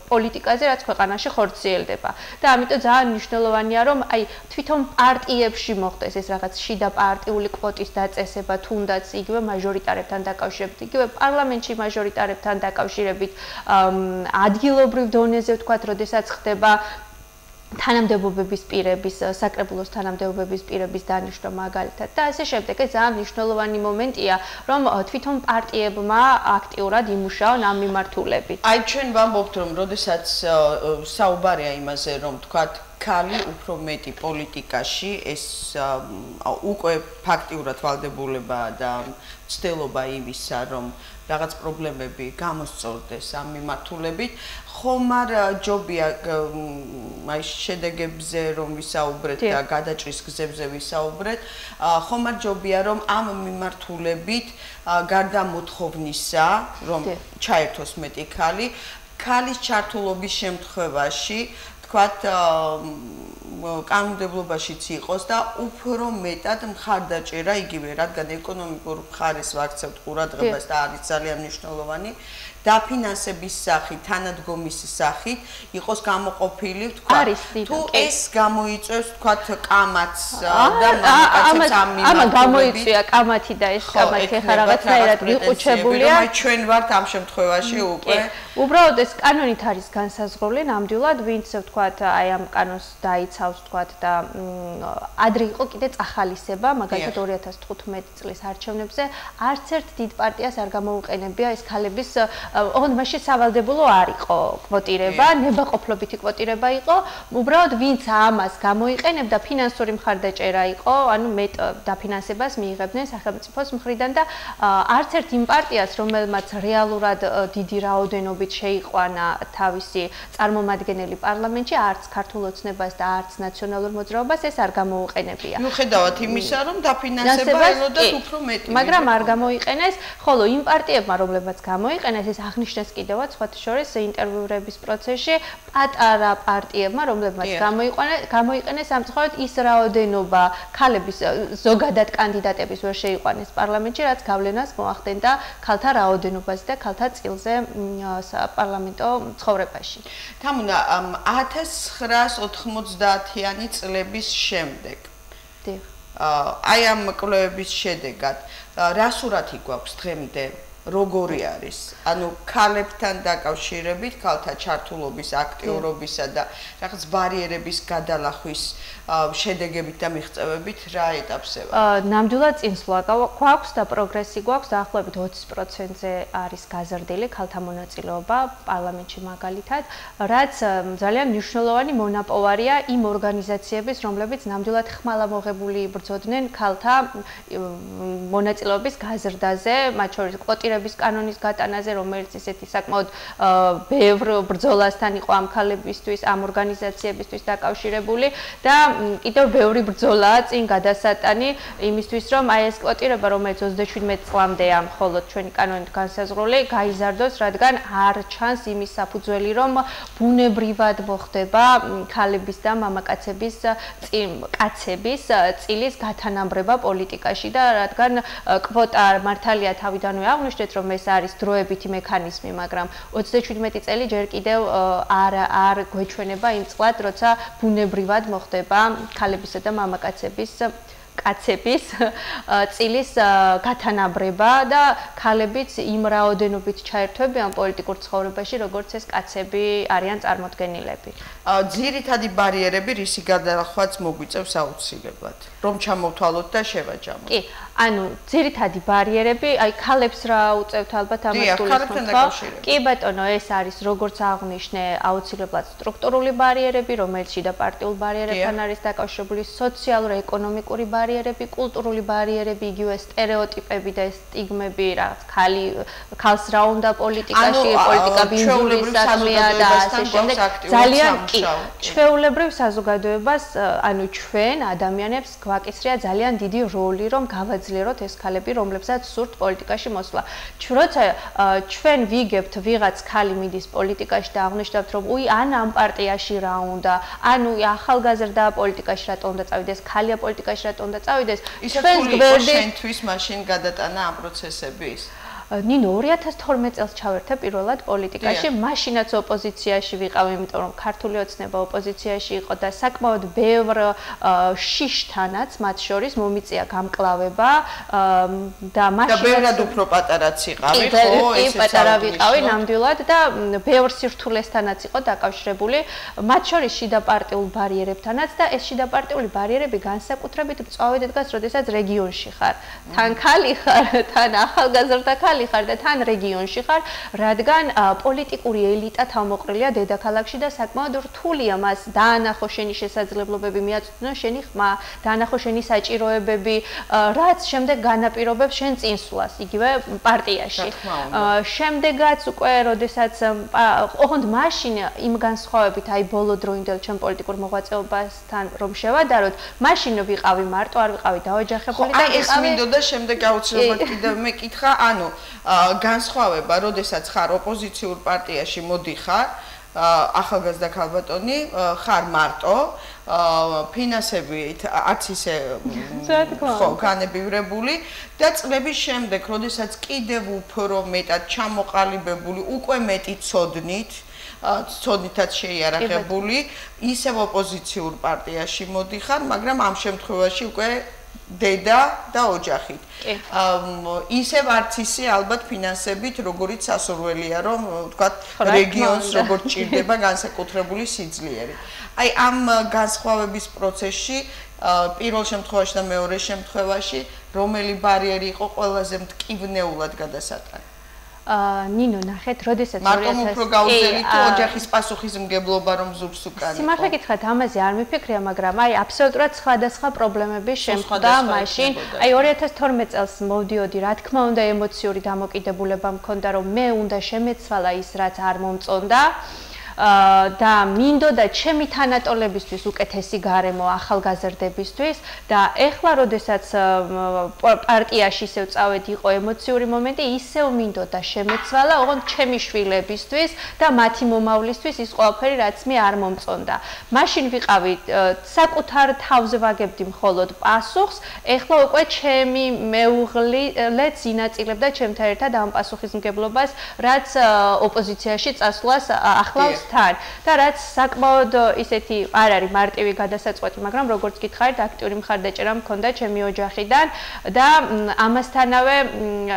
პოლიტიკაზე, რაც ქვეყანაში ხორციელდება. და ამიტომ ძალიან მნიშვნელოვანია, რომ აი თვითონ პარტიებში მოხდეს ეს რაღაც შიდა პარტიული კვოტის დაწესება, თუნდაც იგივე მაჟორიტარებთან დაკავშირებით, იგივე პარლამენტში მაჟორიტარებთან დაკავშირებით ადგილობრივ დონეზე ვთქვათ, როდესაც ხდება თანამდებობების პირების, საკრებულოს თანამდებობების პირების დანიშვნა მაგალითად და ასე შემდეგ. ეს ძალიან მნიშვნელოვანი მომენტია, რომ თვითონ პარტიებმა აქტიურად იმუშაონ ამ მიმართულებით. აი ჩვენ ვამბობთ, რომ როდესაც საუბარია იმაზე, რომ ვთქვათ ქალი უფრო მეტი პოლიტიკაში ეს უკვე ფაქტიურად ვალდებულებაა და ცდილობა იმისა, რომ რაღაც პრობლემები გამოსწორდეს ამ მიმართულებით, ხომ არ ჯობია აი შედეგებზე რომ ვისაუბრეთ და გადაჭრის გზებზე ვისაუბრეთ, ხომ არ ჯობია რომ ამ მიმართულებით გარდა მოთხოვნისა, რომ ჩაერთოს მეტი ქალი, ქალის ჩართულობის შემთხვევაში თქვათ კანონმდებლობაშიც იყოს და უფრო მეტად მხარდაჭერა იგივე, რადგან ეკონომიკურ მხარეს ვაქცევთ ყურადღებას და არის ძალიან მნიშვნელოვანი დაფინანსების სახით, თანადგომის სახით იყოს გამოყოფილი, ვთქვათ, თუ ეს გამოიწვევს, ვთქვათ, კამათს და მამაკაცებს ამ მიმართულებით. ამა გამოიწვია კამათი და ეს კამათი ახლა რაღაცნაირად მიყუჩებულია. აი ჩვენ ვართ ამ შემთხვევაში უკვე. უბრალოდ ეს კანონით არის განსაზღვრული, ნამდვილად, ვინც ვთქვათ, აი ამ კანონს დაიცავს, ვთქვათ და ადრე იყო კიდე წახალისება, მაგალითად 2015 წლის არჩევნებზე, არც ერთ დიდ პარტიას არ გამოუყენებია ეს ქალების ოღონდ მაშინ სავალდებულო არ იყო კვოტირება, ნებაყოფლობითი კვოტირება იყო, უბრალოდ ვინც ამას გამოიყენებდა, ფინანსური მხარდაჭერა იყო, ანუ მეტ დაფინანსებას მიიღებდნენ სახელმწიფოს მხრიდან და არც ერთ იმ პარტიას, რომელმაც რეალურად დიდი რაოდენობით შეიყვანა თავისი წარმომადგენელი პარლამენტში, არც ქართულ ოცნებას და არც ნაციონალურ მოძრაობას ეს არ გამოუყენებია. მიუხედავად იმისა, რომ დაფინანსება ელოდათ უფრო მეტი. მაგრამ არ გამოიყენეს, ხოლო იმ პარტიებმა, რომლებმაც გამოიყენეს, ეს აღნიშნეს კიდევაც სხვათა შორის ინტერვიურების პროცესში პატარა პარტიებმა, რომლებმაც გამოიყენეს სამწუხაროდ ის რაოდენობა ქალების ზოგადად კანდიდატების ვერ შეიყვანეს პარლამენტში, რაც გავლენას მოახდენდა ქალთა რაოდენობაზე და ქალთა წილზე საპარლამენტო ცხოვრებაში. თამუნა 1990-იანი წლების შემდეგ. აი ამ კვლევების შედეგად რა სურათი გვაქვს დღემდე? როგორი არის? ანუ ქალებთან დაკავშირებით, ქალთა ჩართულობის, აქტიურობისა და რაღაც ბარიერების გადალახვის შედეგებით და მიღწევებით რა ეტაპზე ვართ? ნამდვილად წინსვლა გვაქვს და პროგრესი გვაქვს, დაახლოებით 20%-ზე არის გაზრდილი ქალთა მონაწილეობა პარლამენტში მაგალითად, რაც ძალიან მნიშვნელოვანი მონაპოვარია იმ ორგანიზაციების, რომლებიც ნამდვილად ხმალამოღებული იბრძოდნენ ქალთა მონაწილეობის გაზრდაზე, მათ შორის კვოტირების ოპოზიციების კანონის გატანაზე, რომელიც ისეთი საკმაოდ ბევრ ბრძოლასთან იყო ამ ქალებისთვის, ამ ორგანიზაციებისთვის დაკავშირებული და კიდევ ბევრი ბრძოლაა წინ გადასატანი იმისთვის, რომ აი ეს კვოტირება, რომელიც 37 წლამდეა მხოლოდ ჩვენი კანონით განსაზღვრული, გაიზარდოს, რადგან არ ჩანს იმის საფუძველი, რომ ბუნებრივად მოხდება ქალების და მამაკაცების კაცების წილის გათანაბრება პოლიტიკაში და რადგან კვოტა მართალია თავიდანვე აღნიშნეთ, რომ ეს არის დროებითი მექანიზმი, მაგრამ 37 წელი ჯერ კიდევ არ გვეჩვენება იმ წლად, როცა ბუნებრივად მოხდება ქალებისა და მამაკაცების კაცების წილის გათანაბრება და ქალებიც იმ რაოდენობით ჩაერთვებიან პოლიტიკურ ცხოვრებაში, როგორც ეს კაცები არიან წარმოდგენილები. ძირითადი ბარიერები რისი გადახვაც მოგვიწევს აუცილებლად, რომ ჩამოვთვალოთ და შევაჯამოთ. კი, ანუ ძირითადი ბარიერები, აი ქალებს რა უწევთ ალბათ ამას გულისხმობთ. კი ბატონო, ეს არის როგორც აღნიშნე, აუცილებლად სტრუქტურული ბარიერები, რომელიც შიდა პარტიულ ბარიერებთან არის დაკავშირებული, სოციალურ-ეკონომიკური ბარიერები, კულტურული ბარიერები, იგივე სტერეოტიპები და სტიგმები, რაღაც ქალს რა უნდა პოლიტიკაში, პოლიტიკა ბინძურის საქმეა და ასე შემდეგ. ძალიან კი, ჩვეულებრივ საზოგადოებას, ანუ ჩვენ ადამიანებს გვაკისრია ძალიან დიდი როლი, რომ გავაძლიეროთ ეს ქალები, რომლებსაც სურთ პოლიტიკაში მოსვლა. როცა ჩვენ ვიგებთ ვიღაც ქალი მიდის პოლიტიკაში და აღნიშნავთ, რომ უი ან ამ პარტიაში რა უნდა, ანუ ახალგაზრდა პოლიტიკაში რატო უნდა წავიდეს, ქალია პოლიტიკაში რატო უნდა წავიდეს, ჩვენს გვერდით შენთვის მაშინ გადატანა ამ პროცესების. ნინო 2012 წელს ჩავერთე პირველად პოლიტიკაში, მაშინაც ოპოზიციაში ვიყავი, იმიტომ რომ ქართული ოცნება ოპოზიციაში იყო და საკმაოდ ბევრ შიშთანაც მათ შორის მომიწია გამკლავება და მაშინ და ბევრად უფრო პატარაც იყავი, ხო, ესეც პატარა ვიყავი ნამდვილად და ბევრ სირთულესთანაც იყო დაკავშირებული, მათ შორის შიდა პარტიულ ბარიერებთანაც და ეს შიდა პარტიული ბარიერები განსაკუთრებით მწვავედ დგას, როდესაც რეგიონში ხარ. თან ქალი ხარ, თან ახალგაზრდა ქალი ხარ და თან რეგიონში ხარ, რადგან პოლიტიკური ელიტა თავმოყრილია დედაქალაქში და საკმაოდ რთულია მას დაანახო შენი შესაძლებლობები, მიაწვდნო შენი ხმა, დაანახო შენი საჭიროებები, რაც შემდეგ განაპირობებს შენ წინსვლას, იგივე პარტიაში. შემდეგაც უკვე, როდესაც ოღონდ მაშინ იმ განსხვავებით, აი ბოლო დროინდელ ჩემ პოლიტიკურ მოღვაწეობასთან რომ შევადაროთ, მაშინ ვიყავი მარტო, არ ვიყავი დაოჯახებული და ეს მინდოდა შემდეგ აუცილებლად კიდევ მეკითხა, ანუ განსხვავება, როდესაც ხარ ოპოზიციურ პარტიაში მოდიხარ, ახალგაზრდა ქალბატონი, ხარ მარტო, ფინანსები არც ისე ხო განებივრებული და წლების შემდეგ, როდესაც კიდევ უფრო მეტად ჩამოყალიბებული, უკვე მეტი ცოდნითაც შეიარაღებული, ისევ ოპოზიციურ პარტიაში მოდიხარ, მაგრამ ამ შემთხვევაში უკვე დედა და ოჯახით. ისევ არც ისე ალბათ ფინანსებით, როგორიც სასურველია, რომ ვთქვათ, რეგიონს როგორც ჭირდება განსაკუთრებული სიძლიერით. აი ამ განსხვავების პროცესში პირველ შემთხვევაში და მეორე შემთხვევაში რომელი ბარიერი იყო ყველაზე მტკივნეულად გადასატანი? ნინო ნახეთ, როდესაც მარტო უფრო გაუძლელი თუ ოჯახის პასუხისმგებლობა რომ ზურს უკან. სიმართლე გითხრათ, ამაზე არ მიფიქრია, მაგრამ აი აბსოლუტურად სხვადასხვა პრობლემები შემხვდა მაშინ. აი 2012 წელს მოვდიოდი, რა თქმა უნდა, ემოციური დამოკიდებულება მქონდა, რომ მე უნდა შემეცვალა ის, რაც არ მომწონდა. და მინდოდა ჩემი თანატოლებისთვის უკეთესი გარემო ახალგაზრდებისთვის და ეხლა როდესაც პარტიაში ისევ წავედი, იყო ემოციური მომენტი, ისევ მინდოდა შემეცვალა ოღონდ ჩემი შვილებისთვის და მათი მომავლისთვის ის ყველაფერი, რაც მე არ მომწონდა. მაშინ ვიყავი საკუთარ თავზე ვაგებდი მხოლოდ პასუხს, ეხლა უკვე ჩემი მეუღლეც ინაწილებდა ჩემთან ერთად ამ პასუხისმგებლობას, რაც ოპოზიციაში წასვლას ახლავს და რაც საკმაოდ ისეთი არ არის მარტივი გადასაწყვეტი, მაგრამ როგორც გითხარით, აქტიური მხარდაჭერა მქონდა ჩემი ოჯახიდან და ამასთანავე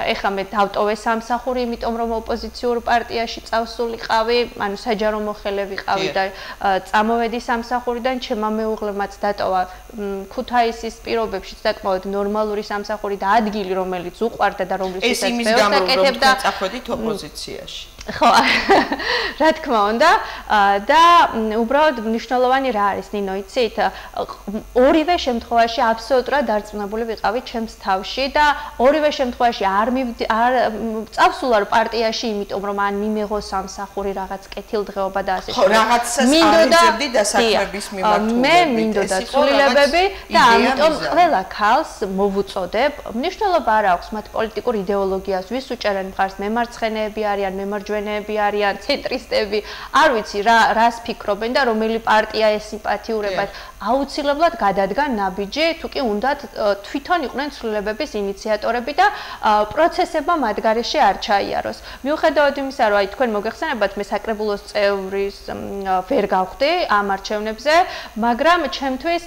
ეხლა მე დავტოვე სამსახური, იმიტომ რომ ოპოზიციურ პარტიაში წავსულიყავი, ანუ საჯარო მოხელე ვიყავი და წამოვედი სამსახურიდან, ჩემმა მეუღლემაც დატოვა ქუთაისის პირობებში საკმაოდ ნორმალური სამსახური და ადგილი, რომელიც უყვარდა და რომლისთვისაც ეს იმის გამო რომ წახვედით ოპოზიციაში. ხო, რა თქმა უნდა და უბრალოდ მნიშვნელოვანი რა არის ნინო, იცით? ორივე შემთხვევაში აბსოლუტურად დარწმუნებული ვიყავი ჩემს თავში და ორივე შემთხვევაში არ წავსულარ პარტიაში, იმიტომ რომ ან მიმეღო სამსახური რაღაც კეთილდღეობა და ასე ხო, რაღაცას აღიძებდი დასაქმების მიმართულებით. მე მინდოდა ცვლილებები და ამიტომ ყველა ქალს მოვუწოდებ, მნიშვნელობა არ აქვს მათ პოლიტიკურ იდეოლოგიას, ვის უჭერენ მხარს, მემარცხენეები არიან, მემარჯვენეები არიან, ცენტრისტები, არ ვიცი რას ფიქრობენ და რომელი პარტია ესიმპათიურებათ. აუცილებლად გადადგან ნაბიჯი, თუ კი უნდათ თვითონ იყვნენ ცვლილებების ინიციატორები და პროცესება მათ გარეშე არ ჩაიაროს. მიუხედავად იმისა, რომ თქვენ მოგეხსენებათ, მე საკრებულოს წევრის ვერ გავხდი ამ არჩევნებზე, მაგრამ ჩემთვის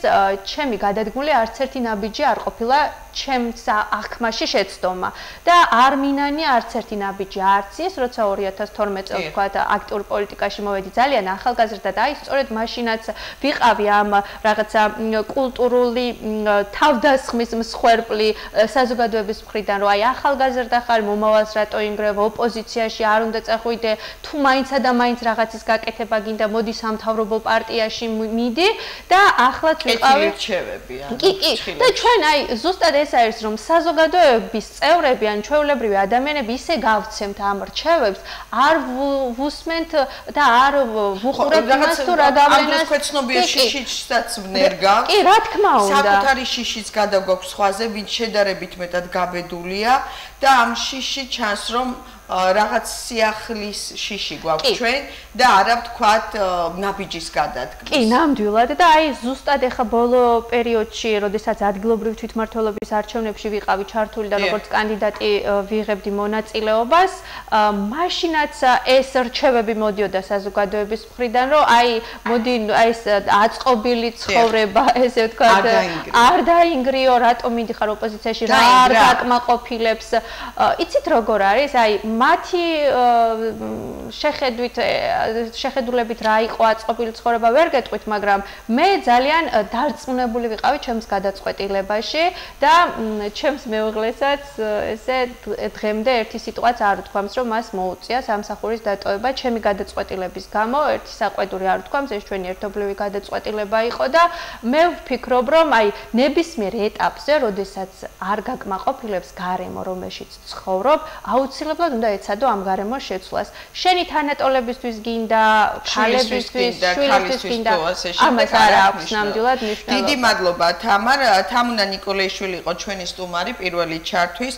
ჩემი გადადგმული არც ერთი ნაბიჯი არ ყოფილა ჩემს აღქმაში შეცდომა და არ მინანია არც ერთი ნაბიჯი არც ის, როცა 2012 წელს თქვა აქტიურ პოლიტიკაში მოვედი, ძალიან ახალგაზრდა და აი სწორედ მაშინაც ვიყავი ამ რაღაცა კულტურული თავდასხმის მსხვერპლი საზოგადოების მხრიდან, რომ აი ახალგაზრდა ხარ, მომავალს რატო ინგრევ, ოპოზიციაში არ უნდა წახვიდე, თუ მაინცა და მაინც რაღაცის გაკეთება გინდა, მოდი სამთავრობო პარტიაში მიდი და ახლაც ვიყავი კი, და ჩვენ აი ზუსტად ეს არის, რომ საზოგადოების წევრები ან ჩვეულებრივი ადამიანები ისე გავცემთ ამ რჩევებს, არ ვუსმენთ და არ ვუყურებთ იმას, თუ რა გავლენას ამ ქვეცნობია შიშიც ვნერგავს. კი, რა თქმა უნდა. საკუთარი შიშიც გადაგვაქვს სხვაზე, ვინც შედარებით მეტად გაბედულია და ამ შიში ჩანს, რომ რაღაც სიახლის შიში გვაქვს ჩვენ და არა ვთქვათ ნაბიჯის გადადგმის. კი, ნამდვილად და აი ზუსტად ეხა ბოლო პერიოდში, როდესაც ადგილობრივი თვითმმართველობის არჩევნებში ვიყავი ჩართული და როგორც კანდიდატი ვიღებდი მონაწილეობას, მაშინაც ეს რჩევები მოდიოდა საზოგადოების მხრიდან, რომ აი მოდი აი ეს აწყობილი ცხოვრება, ესე ვთქვათ, არ დაინგრიო, რატომ მიდიხარ ოპოზიციაში, რა არ დაკმაყოფილებს. იცით როგორ არის? აი მათი შეხედულებით რა იყო აწყობილი ცხოვრება ვერ გეტყვით, მაგრამ მე ძალიან დარწმუნებული ვიყავი ჩემს გადაწყვეტილებაში და ჩემს მეუღლესაც ესე დღემდე ერთი სიტყვაც არ უთქვამს, რომ მას მოუწია სამსახურის დატოვება ჩემი გადაწყვეტილების გამო, ერთი საყვედური არ უთქვამს, ეს ჩვენი ერთობლივი გადაწყვეტილება იყო და მე ვფიქრობ, რომ აი ნებისმიერ ეტაპზე, როდესაც არ გაკმაყოფილებს გარემო, რომელშიც ცხოვრობ, აუცილებლად უნდა ეცადო ამ გარემოს შეცვლას. შენი თანატოლებისთვის გინდა, ქალებისთვის, შვილისთვის გინდა, ამას არ აქვს ნამდვილად მნიშვნელობა. დიდი მადლობა თამარ. თამუნა ნიკოლაიშვილი იყო ჩვენი სტუმარი პირველი ჩართვის.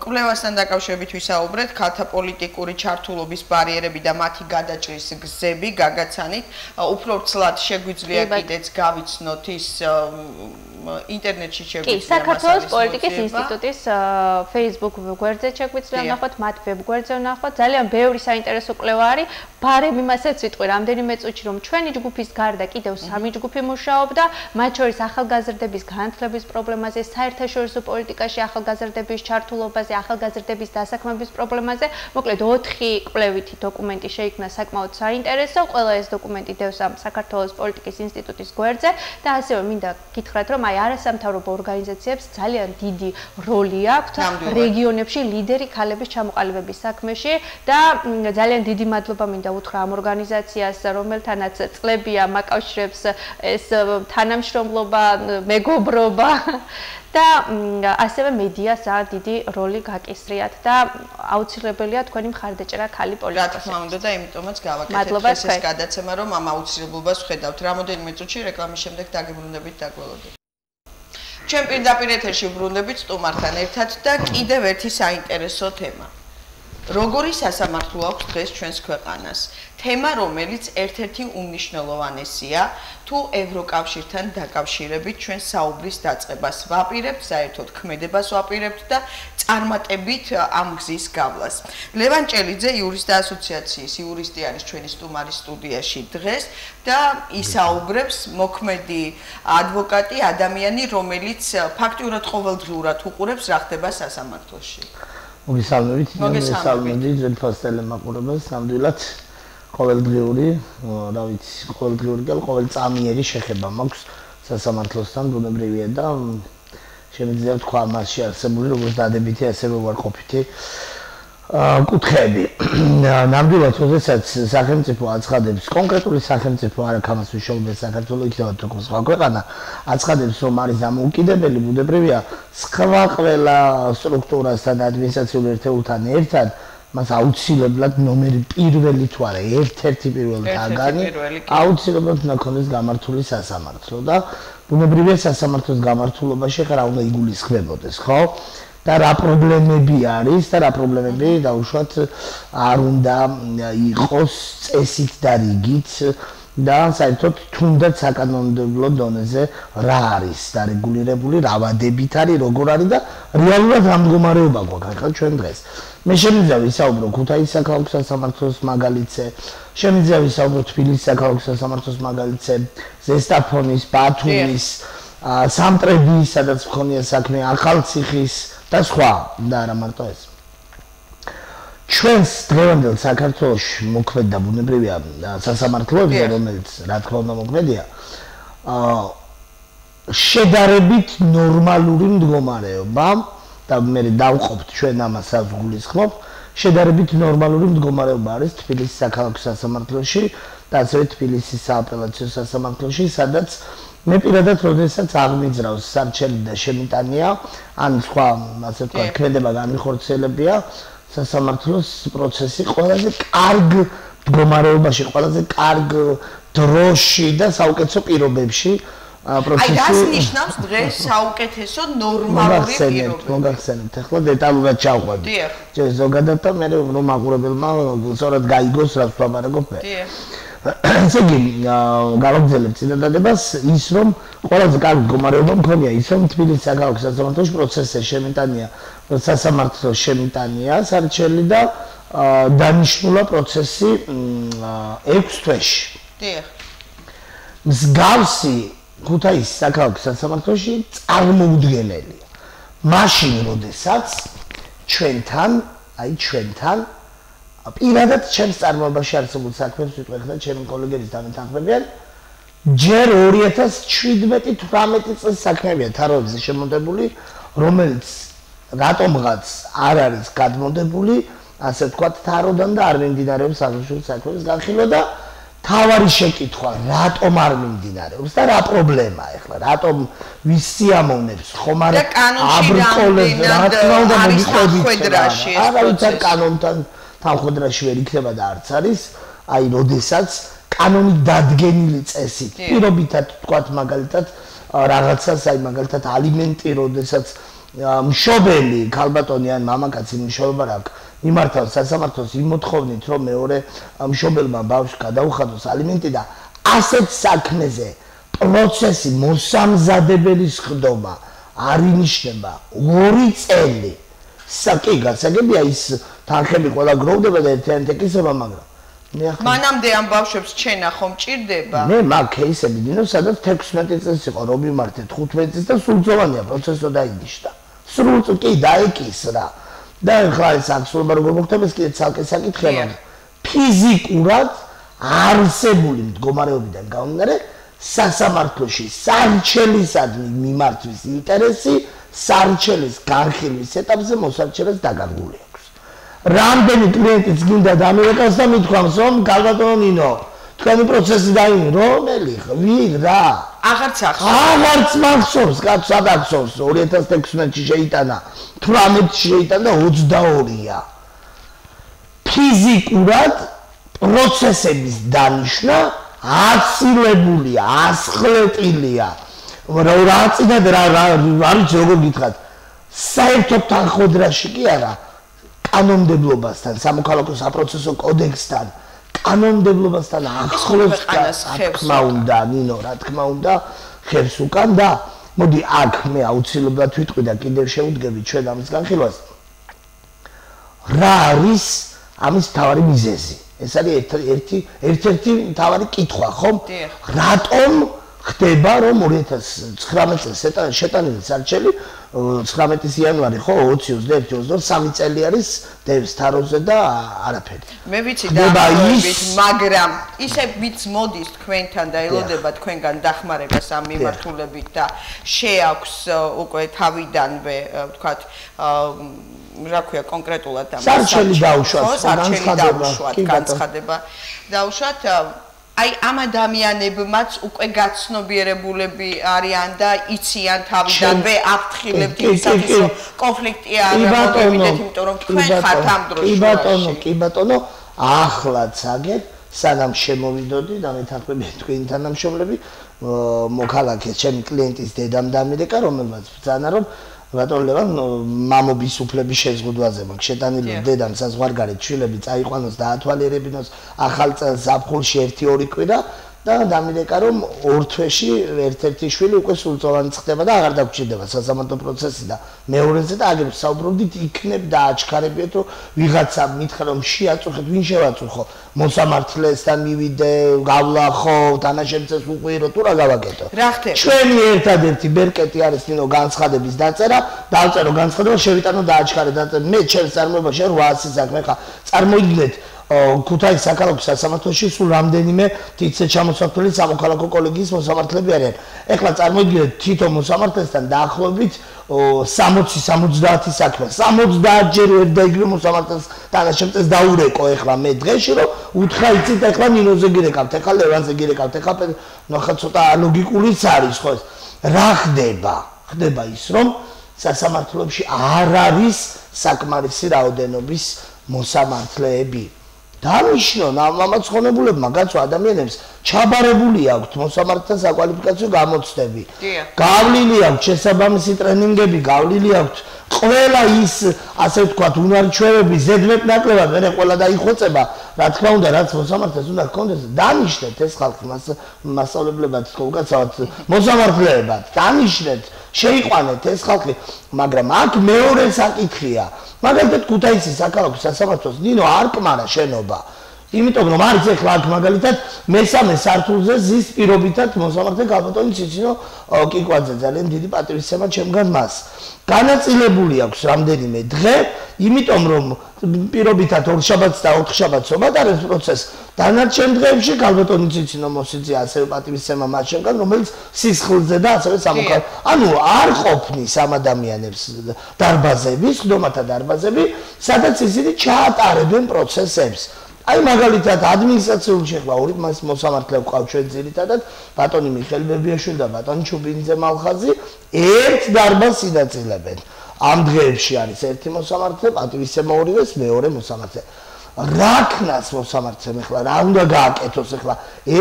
კვლევასთან დაკავშირებით ვისაუბრეთ ქალთა პოლიტიკური ჩართულობის ბარიერები და მათი გადაჭრის გზები გაგაცანით. უფრო ცლად შეგვიძლია კიდეც გავიცნოთ ის ინტერნეტში შეგვიძლია საქართველოს პოლიტიკის ინსტიტუტის Facebook გვერდზე შეგვიძლია ნახოთ, მათ ვებ გვერდზე ნახოთ. ძალიან ბევრი საინტერესო კვლევა არის. ბარემ იმასაც ვიტყვი რამდენიმე წუთში, რომ ჩვენი ჯგუფის გარდა კიდევ 3 ჯგუფი მუშაობდა, მათ შორის ახალგაზრდების განათლების პრობლემაზე, საერთაშორისო პოლიტიკაში ახალგაზრდების ჩართულობაზე, ახალგაზრდების დასაქმების პრობლემაზე. მოკლედ 4 კვლევითი დოკუმენტი შეიქმნა საკმაოდ საინტერესო. ყველა ეს დოკუმენტი დევს ამ საქართველოს პოლიტიკის ინსტიტუტის გვერდზე და ასევე მინდა გითხრათ, რომ აი არასამთავრობო ორგანიზაციებს ძალიან დიდი როლი აქვთ რეგიონებში ლიდერი ქალების ჩამოყალიბების საქმეში და ძალიან დიდი მადლობა მინდა უთხრა ამ ორგანიზაციას, რომელთანაც წლებია მაკავშირებს ეს თანამშრომლობა, მეგობრობა და ასევე მედიას ძალიან დიდი როლი გაკისრიათ და აუცილებელია თქვენი მხარდაჭერა ქალი პოლიტიკოსებს. რა თქმა უნდა და იმიტომაც გავაკეთებთ ეს გადაცემა, რომ ამ აუცილებლობას ვხედავთ. რამოდენიმე წუთში რეკლამის შემდეგ დაგებრუნდებით დაგველოდებით. ჩვენ პირდაპირ ეთერში ვბრუნდებით სტუმართან ერთად და კიდევ ერთი საინტერესო თემა. როგორი სასამართლო აქვს დღეს ჩვენს ქვეყანას? თემა, რომელიც ერთ-ერთი უმნიშვნელოვანესია, თუ ევროკავშირთან დაკავშირებით ჩვენ საუბრის დაწყებას ვაპირებთ, საერთოდ ქმედებას ვაპირებთ და წარმატებით ამ გზის გავლას. ლევან ჭელიძე იურისტთა ასოციაციის იურისტი არის ჩვენი სტუმარი სტუდიაში დღეს და ისაუბრებს მოქმედი ადვოკატი, ადამიანი, რომელიც ფაქტიურად ყოველდღიურად უყურებს რა ხდება სასამართლოში. მოგესალმებით, ძვირფას ტელემაყურებელს, ნამდვილად ყოველდღიური, რა ვიცი, ყოველდღიური და ყოველწამიერი შეხება მაქვს სასამართლოსთან, ბუნებრივია და შემიძლია ვთქვა მასში არსებული როგორც დადებითი, ასევე უარყოფითი კუთხეები. ნამდვილად, როდესაც სახელმწიფო აცხადებს, კონკრეტული სახელმწიფო არა ქამას ვიშოვებს საქართველოს იქნება თუ სხვა ქვეყანა, აცხადებს, რომ არის დამოუკიდებელი, ბუნებრივია, სხვა ყველა სტრუქტურასთან, ადმინისტრაციულ ერთეულთან ერთად, მას აუცილებლად ნომერი პირველი თუ არა, ერთ-ერთი პირველი თაგანი, აუცილებლად უნდა ქონდეს გამართული სასამართლო და ბუნებრივია სასამართლოს გამართულობაში ხარ უნდა იგულისხმებოდეს, ხო? და რა პრობლემები არის და რა პრობლემები დაუშვათ არ უნდა იყოს წესით და რიგით და საერთოდ თუნდაც საკანონმდებლო დონეზე რა არის დარეგულირებული, რა ვადებით არის, როგორ არის და რეალურად რა მდგომარეობა გვაქვს ახლა ჩვენ დღეს. მე შემიძლია ვისაუბრო ქუთაისის საქალაქო სასამართლოს მაგალითზე, შემიძლია ვისაუბრო თბილისის საქალაქო სასამართლოს მაგალითზე, ზესტაფონის, ბათუმის, სამტრედიის, სადაც მქონია საქმე, ახალციხის და სხვა და არა მარტო ეს. ჩვენს დღევანდელ საქართველოში მოქმედა ბუნებრივია სასამართლოებზე, რომელიც რა თქმა უნდა მოქმედია, შედარებით ნორმალური მდგომარეობა და მე დავყოფთ ჩვენ ამას გულისხმობ, შედარებით ნორმალური მდგომარეობა არის თბილისის საქალაქო სასამართლოში და ასევე თბილისის სააპელაციო სასამართლოში, სადაც მე პირადად როდესაც აღმიძრავს სარჩელი და შემიტანია, ან სხვა, ასე ვთქვათ, ქმედება განხორციელებია, სასამართლოს პროცესი ყველაზე კარგ მდგომარეობაში, ყველაზე კარგ დროში და საუკეთესო პირობებში პროცესი. აი, რას ნიშნავს დღეს საუკეთესო ნორმალური პირობები? მოგახსენებთ, ახლა დეტალურად ჩავყვებით. ჯერ ზოგადად და მე რომ მაყურებელმა სწორად გაიგოს რა ვთვალარებობ მე. ესე იგი, გავაგრძელებ წინადადებას ის, რომ ყველაზე კარგი მდგომარეობა მქონია ის, რომ თბილისის საქალაქო სასამართლოში პროცესი შემიტანია, სასამართლოს შემიტანია სარჩელი და დანიშნულა პროცესი 6 თვეში. დიახ. მსგავსი ქუთაისის საქალაქო სასამართლოში წარმოუდგენელია. მაშინ, როდესაც ჩვენთან პირადად ჩემს წარმოებაში არსებულ საქმეს ვიტყვი და ჩემი კოლეგების დამეთანხმებიან ჯერ 2017-18 წლის საქმეებია თაროებზე შემოდებული, რომელიც რატომღაც არ არის გადმოდებული, ასე ვთქვათ, თაროდან და არ მიმდინარეობს აღნიშნული საქმის განხილვა და თავარი შეკითხვა, რატომ არ მიმდინარეობს და რა პრობლემაა ახლა, რატომ ვის სიამოვნებს ხომ არ აბრკოლებს, რა თქმა უნდა მოგიყვებით. არავითარ კანონთან თანხმდრაში ვერ იქნება და არც არის, აი, როდესაც კანონით დადგენილი წესით, პირობითად ვთქვათ მაგალითად რაღაცას, აი მაგალითად ალიმენტი, როდესაც მშობელი, ქალბატონი ან მამაკაცი მშობლობა რა აქვს, მიმართავს სასამართლოს იმოთხოვნით, რომ მეორე მშობელმა ბავშვს გადაუხადოს ალიმენტი და ასეთ საქმეზე პროცესი მოსამზადებელის ხდომა არ ინიშნება 2 წელი. კი, გასაგებია ის თანხები ყველა გროვდება და ერთიანი ეკისრება, მაგრამ მანამდე ამ ბავშვებს ჩენა ხომ ჭირდება? მე მაგ кейსები დინო, სადაც 16 წელს იყო, რომ მიმართეთ 15 წელს და სრულწლოვანია პროცესო დაინიშნა. სრულწლოვანი კი დაეკისრა. და ახლა ეს აქცურობა როგორ მოხდება, ეს კიდე ცალკე საკითხია. ფიზიკურად არსებული მდგომარეობიდან გამომდინარე, სასამართლოში სარჩელისადმი მიმართვის ინტერესი სარჩელის განხილვის ეტაპზე მოსარჩელეს დაკარგული აქვს. რამდენი კლიენტიც გინდა დამირეკავს და მithქვამს, რომ ქალბატონო ნინო, თქვენი პროცესი დაინი, რომელი ვინ რა? აღარც ახსოვს. აღარც მახსოვს, კაც სადახსოვს, 2016-ში შეიტანა, 18-ში შეიტანა და 22-ია. ფიზიკურად პროცესების დანიშნა აცილებულია, ასხლეტილია. რა წინად რა არის როგორ გითხრათ, საერთოდ თანხმდრაში კი არა, კანონმდებლობასთან, სამოქალაქო საპროცესო კოდექსთან, კანონმდებლობასთან ახლოს რა თქმა უნდა, ნინო, რა თქმა უნდა, ხერს უკან და მოდი აქ მე აუცილებლად ვიტყვი და კიდევ შევუდგები ჩვენ ამის განხილვას. რა არის ამის მთავარი მიზეზი? ეს არის ერთ-ერთი მთავარი კითხვა, ხომ? რატომ ხდება რომ 2019 წელს შეტანილი სარჩელი 19 იანვარი ხო 20-21-22 წელი არის დევს თაროზე და არაფერი. მე ვიცი დაახლოებით, მაგრამ ისე ვიც მოდის თქვენთან და ელოდება თქვენგან დახმარებას ამ მიმართულებით და შეაქვს უკვე თავიდანვე ვთქვათ რა ქვია კონკრეტულად ამ სარჩელი დაუშვათ, განცხადება დაუშვათ აი ამ ადამიანებმაც უკვე გაცნობიერებულები არიან და იციან თავიდანვე აფრთხილებთ იმისათვის რომ კონფლიქტი არ მოგივიდეთ იმიტომ რომ თქვენ ხართ ამ დროში კი ბატონო ახლაც აგერ სანამ შემოვიდოდი და მეთანხმები თქვენი თანამშრომლები მოქალაქეს ჩემი კლიენტის დედამ დამირეკა რომელმაც ბრძანა რომ ბატონო ლევან მამობის უფლების შეზღუდვაზე მაქვს შეტანილი დედამ საზღვარგარეთ შვილები წაიყვანოს და ათვალიერებინოს ახალ წელს ზაფხულში 1-2 კვირა და დამირეკა რომ ორ თვეში ერთ-ერთი შვილი უკვე სრულწლოვანი ხდება და აღარ დაგჭირდება სასამართლო პროცესი და მეორეზე და აგერ საუბრობდით იქნებ და აჩქარებიეთ რომ ვიღაცა მითხრა რომ შეაწუხეთ ვინ შევაწუხო მოსამართლესთან მივიდე გავლახო თანაშემწეს უყვირო თუ რა გავაკეთო რა ხდება ჩვენი ერთადერთი ბერკეტი არის ნინო განცხადების დაწერა დავწერო განცხადება შევიტანო და აჩქარე და მე ჩემს წარმოებაში 800 საქმე ხა წარმოიდგინეთ ქუთაისის საქალაქო სასამართლოში სულ რამდენიმე თითზე ჩამოსახლებული სამოქალაქო კოლეგიის მოსამართლეები არიან. ეხლა წარმოიდგინეთ თითო მოსამართლესთან დაახლოებით 60-70 საქმე. 70 ჯერ ვერ დაიგრო მოსამართლეს თანაშემწეს დაურეკო ეხლა მე დღეში რომ უთხრა იცით ეხლა ნინოზე გირეკავთ, ეხლა ლევანზე გირეკავთ, ეხლა ნახა ცოტა ლოგიკულიც არის ხო ეს. რა ხდება? ხდება ის რომ სასამართლოებში არ არის საკმარისი რაოდენობის მოსამართლეები. დანიშნონ ამაც ხონებულებმა გაცვა ადამიანებს ჩაბარებული აქვთ მოსამართლეთა საკვალიფიკაციო გამოცდები. გავლილი აქვთ შესაბამისი ტრენინგები, გავლილი აქვთ ყველა ის ასე ვთქვათ უნარჩვევები ზედმეტ ნაკლებად მე ყველა დაიხოცება რა თქმა უნდა რაც მოსამართლეს უნდა გქონდეს დანიშნეთ ეს ხალხი მასწავლებლებად უკაცრავად მოსამართლეებად დანიშნეთ შეიყვანეთ ეს ხალხი მაგრამ აქ მეორე საკითხია მაგალითად ქუთაისის საქალაქო სასამართლოს ნინო არ კმარა შენობა იმიტომ რომ არის ეხლა აქ მაგალითად მესამე სართულზე ზის პირობითად მოსამართლე გალბატონი ციცინო კიკვაძე ძალიან დიდი პატივისცემა ჩემგან მას განაწილებული აქვს რამდენიმე დღე იმიტომ რომ პირობითად ორშაბათს და ოთხშაბათს ომადარებს პროცესს დანარჩენ დღეებში გალბატონი ციცინო მოსიძე ასევე პატივისცემა მას ჩემგან რომელიც სისხლზე და ასევე სამოქალაქო ანუ არ ყოფნის ამ ადამიანებს დარბაზები ხდომათა დარბაზები სადაც ისინი ჩაატარებენ პროცესებს აი მაგალითად ადმინისტრაციული შეხლა ორი მოსამართლე ვყავ ჩვენ ძირითადად ბატონი მიხეილ ბებიაშვილი და ბატონი ჩუბინიძე მალხაზი ერთ დარბაზს ინაწილებენ ამ დღეებში არის ერთი მოსამართლე პატივისცემა ორივეს მეორე მოსამართლე რა ქნას მოსამართლემ ახლა რა უნდა გააკეთოს ახლა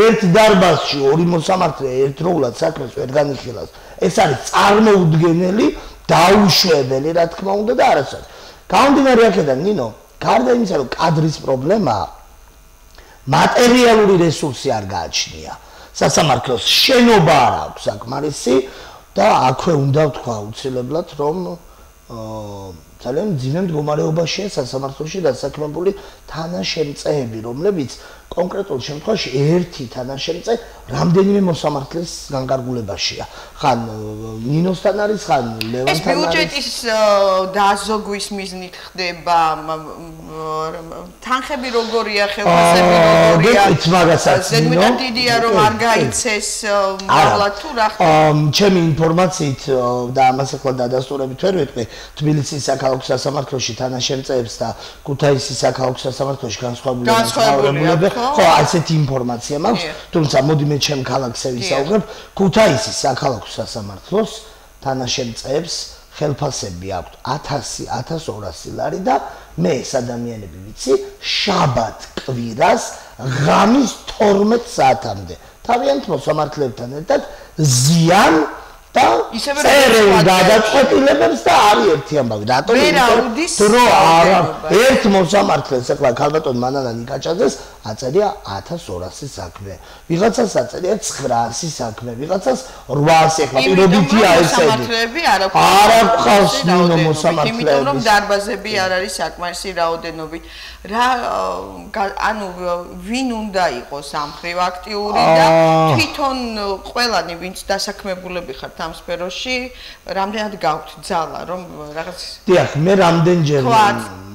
ერთ დარბაზში ორი მოსამართლე ერთდროულად საქმეს ვერ განიხილავს ეს არის წარმოუდგენელი დაუშვებელი რა თქმა უნდა და არასოდეს გამომდინარე აქედან ნინო გარდა იმისა რომ კადრის პრობლემაა მატერიალური რესურსი არ გააჩნია სასამართლოს შენობა არ აქვს საკმარისი და აქვე უნდა ვთქვა აუცილებლად რომ ძალიან მძიმე მდგომარეობაშია სასამართლოში დასაქმებული თანაშემწეები რომლებიც კონკრეტულ შემთხვევაში ერთი თანაშემწე რამდენიმე მოსამართლეს განკარგულებაშია ხან ნინოსთან არის ხან ლევანთან არის ეს ბიუჯეტის დაზოგვის მიზნით ხდება თანხები როგორია ხელფასები როგორია ზედმეტად დიდია რომ არ გაიცეს მოვლა თუ რა ხდება ჩემი ინფორმაციით და ამას ახლა დადასტურებით ვერ ვეტყვი თბილისის საქალაქო სასამართლოში თანაშემწეებს და ქუთაისის საქალაქო სასამართლოში განსხვავებულები ხო ასეთი ინფორმაცია მაქვს თუმცა მოდი მე ჩემ ქალაქზე ვისაუბრებ ქუთაისის საქალაქო სასამართლოს თანაშემწეებს ხელფასები აქვთ 1000-1200 ლარი და მე ეს ადამიანები ვიცი შაბათ კვირას ღამის 12 საათამდე თავიანთ მოსამართლებთან ერთად ზიან და წერენ გადაწყვეტილებებს და არის ერთი ამბავი. რატომ? დრო არა ერთ მოსამართლეს ახლა ქალბატონ მანანა ნიკაჭაძეს აწერია 1200 საქმე. ვიღაცას აწერია 900 საქმე, ვიღაცას 800 ახლა პირობითია ესეთი. არ აქვს ნინო მოსამართლეები. იმიტომ რომ დარბაზები არ არის საკმარისი რაოდენობით. რა ანუ ვინ უნდა იყოს ამ ხრივ აქტიური და თვითონ ყველანი ვინც დასაქმებულები ხართ ამ სფეროში, რამდენად გაქვთ ძალა რომ რაღაც დიახ, მე რამდენჯერმე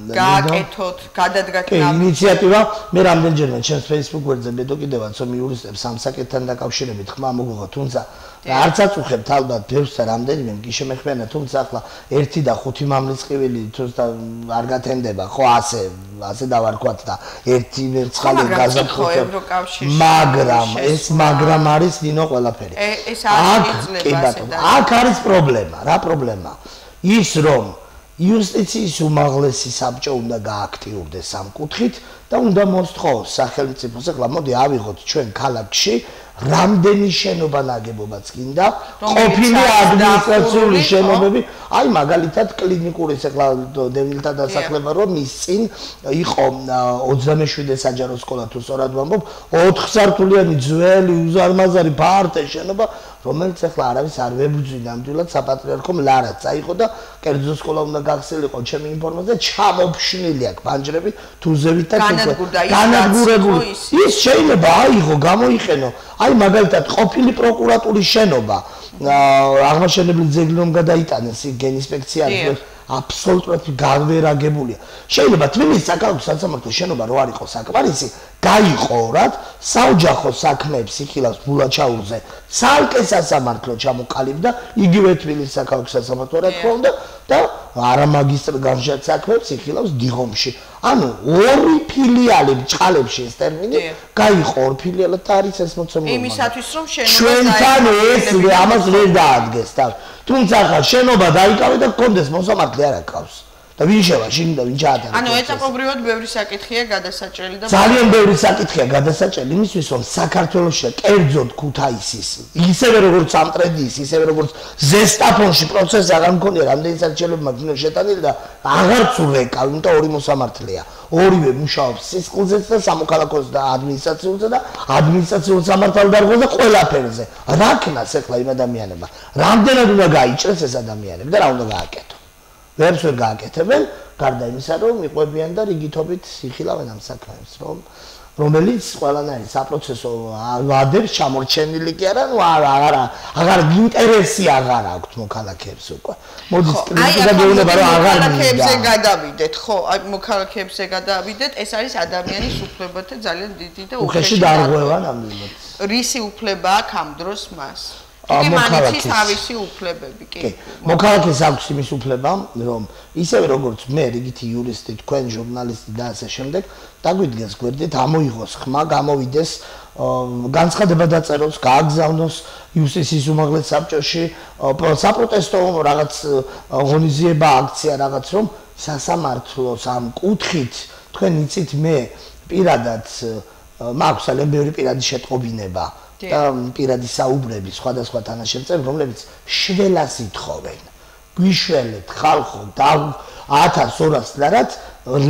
გააკეთოთ, გადადგათ ინიციატივა, მე რამდენჯერმე ჩემს Facebook გვერდზე მედო კიდევაც რომ იურისტებს ამ საკითხთან დაკავშირებით ხმა მოგოღო, თუმცა არც აწუხებთ ალბათ ბევრს და რამდენიმე კი შემეხმიანა, თუმცა ახლა 1 და 5 მამრიცხვილი თუმცა არ გათენდება, ხო ასე დავარქვათ და 1 მერცხალი გაზაფხულებ, მაგრამ ეს მაგრამ არის ნინო ყველაფერი. ეს არის იძლება. აქ არის პრობლემა, რა პრობლემა? ის რომ იუსტიციის უმაღლესი საბჭო უნდა გააქტიურდეს ამ კუთხით და უნდა მოსთხოვოს სახელმწიფოს. ახლა მოდი ავიღოთ ჩვენ ქალაქში რამდენი შენობა ნაგებობაც გინდა, ყოფილი ადმინისტრაციული შენობები, აი მაგალითად კლინიკური ახლა დევნილთა დასახლება რომ მის წინ იყო 27 საჯარო სკოლა თუ სწორად ვამბობ, 4 სართულიანი ძველი უზარმაზარი ფართე შენობა, რომელიც ახლა არავის არ ვებრძვი ნამდვილად საპატრიარქომ ლარად წაიღო და კერძო სკოლა უნდა გახსნილიყო ჩემი ინფორმაცია ჩამოფშნილი აქვს ბანჯრები თუზებით და განადგურებული. ის შეიძლება აიღო, გამოიყენო. აი მაგალითად ყოფილი პროკურატურის შენობა აღმაშენებელი ძეგლი რომ გადაიტანეს გენინსპექცია აბსოლუტურად განვერაგებულია. შეიძლება თბილისის საკალათო სასამართლოს შენობა რო არ იყოს საკმარისი, გაიყორათ საოჯახო საქმეებს იხილავს ბულაჩაურზე. ცალკე სასამართლო ჩამოყალიბდა იგივე თბილისის საკალათო სასამართლო რა თქმა უნდა და არამაგისტრ განშად საქმეებს იხილავს დიღომში. ანუ 2 ფილიალი ბჭყალებში ეს ტერმინი გაიყო 2 ფილიალად და არის ეს მოცემული. იმისათვის რომ შენობა ჩვენთან ეს ამას ვერ დაადგეს და თუმცა ხა შენობა დაიკავე და გქონდეს მოსამართლე არ აკავს. და ვინ შევა შინ და ვინ ჩაატარა. ანუ ეტაპობრივად ბევრი საკითხია გადასაჭრელი და ძალიან ბევრი საკითხია გადასაჭრელი იმისთვის რომ საქართველოში კერძოდ ქუთაისის ისევე როგორც ამტრედიის ისევე როგორც ზესტაფონში პროცესი აღარ მქონია რამდენი საჭიროება მაგნო შეტანილი და აღარც ურეკა იმიტომ ორი მოსამართლეა ორივე მუშაობს სისხლზეც და სამოქალაქოს და ადმინისტრაციულზე და ადმინისტრაციულ სამართალდარღვევაზე და ყველაფერზე რა ქნას ეხლა იმ ადამიანებმა რამდენად უნდა გაიჭრეს ეს ადამიანები და რა უნდა გააკეთო ვერც ვერ გააკეთებენ, გარდა იმისა, რომ იყვებიან და რიგითობით იხილავენ ამ საქმეებს, რომელიც ყველანაირი საპროცესო ვადებს ჩამორჩენილი კი არა, ნუ აღარ ინტერესი აღარ აქვთ მოქალაქეებს უკვე. მოდის კრიტიკა გეუბნება, რომ აღარ მოქალაქეებზე გადავიდეთ, ხო, აი მოქალაქეებზე გადავიდეთ, ეს არის ადამიანის უფლებათა ძალიან დიდი და უხეში დარღვევა ნამდვილად. რისი უფლება აქვს ამ დროს მას? მოქალაქის თავისი უფლებები კი მოქალაქეს აქვს იმის უფლება რომ ისევე როგორც მე რიგითი იურისტი თქვენ ჟურნალისტი და ასე შემდეგ დაგვიდგეს გვერდით ამოიღოს ხმა გამოვიდეს განცხადება დაწეროს გააგზავნოს იუსტიციის უმაღლეს საბჭოში საპროტესტო რაღაც ღონისძიება აქცია რაღაც რომ სასამართლოს ამ კუთხით თქვენ იცით მე პირადად მაქვს ძალიან ბევრი პირადი შეტყობინება და პირადი საუბრები სხვადასხვა თანაშემწეები, რომლებიც შველას ითხოვენ. გვიშველეთ ხალხო და 1200 ლარად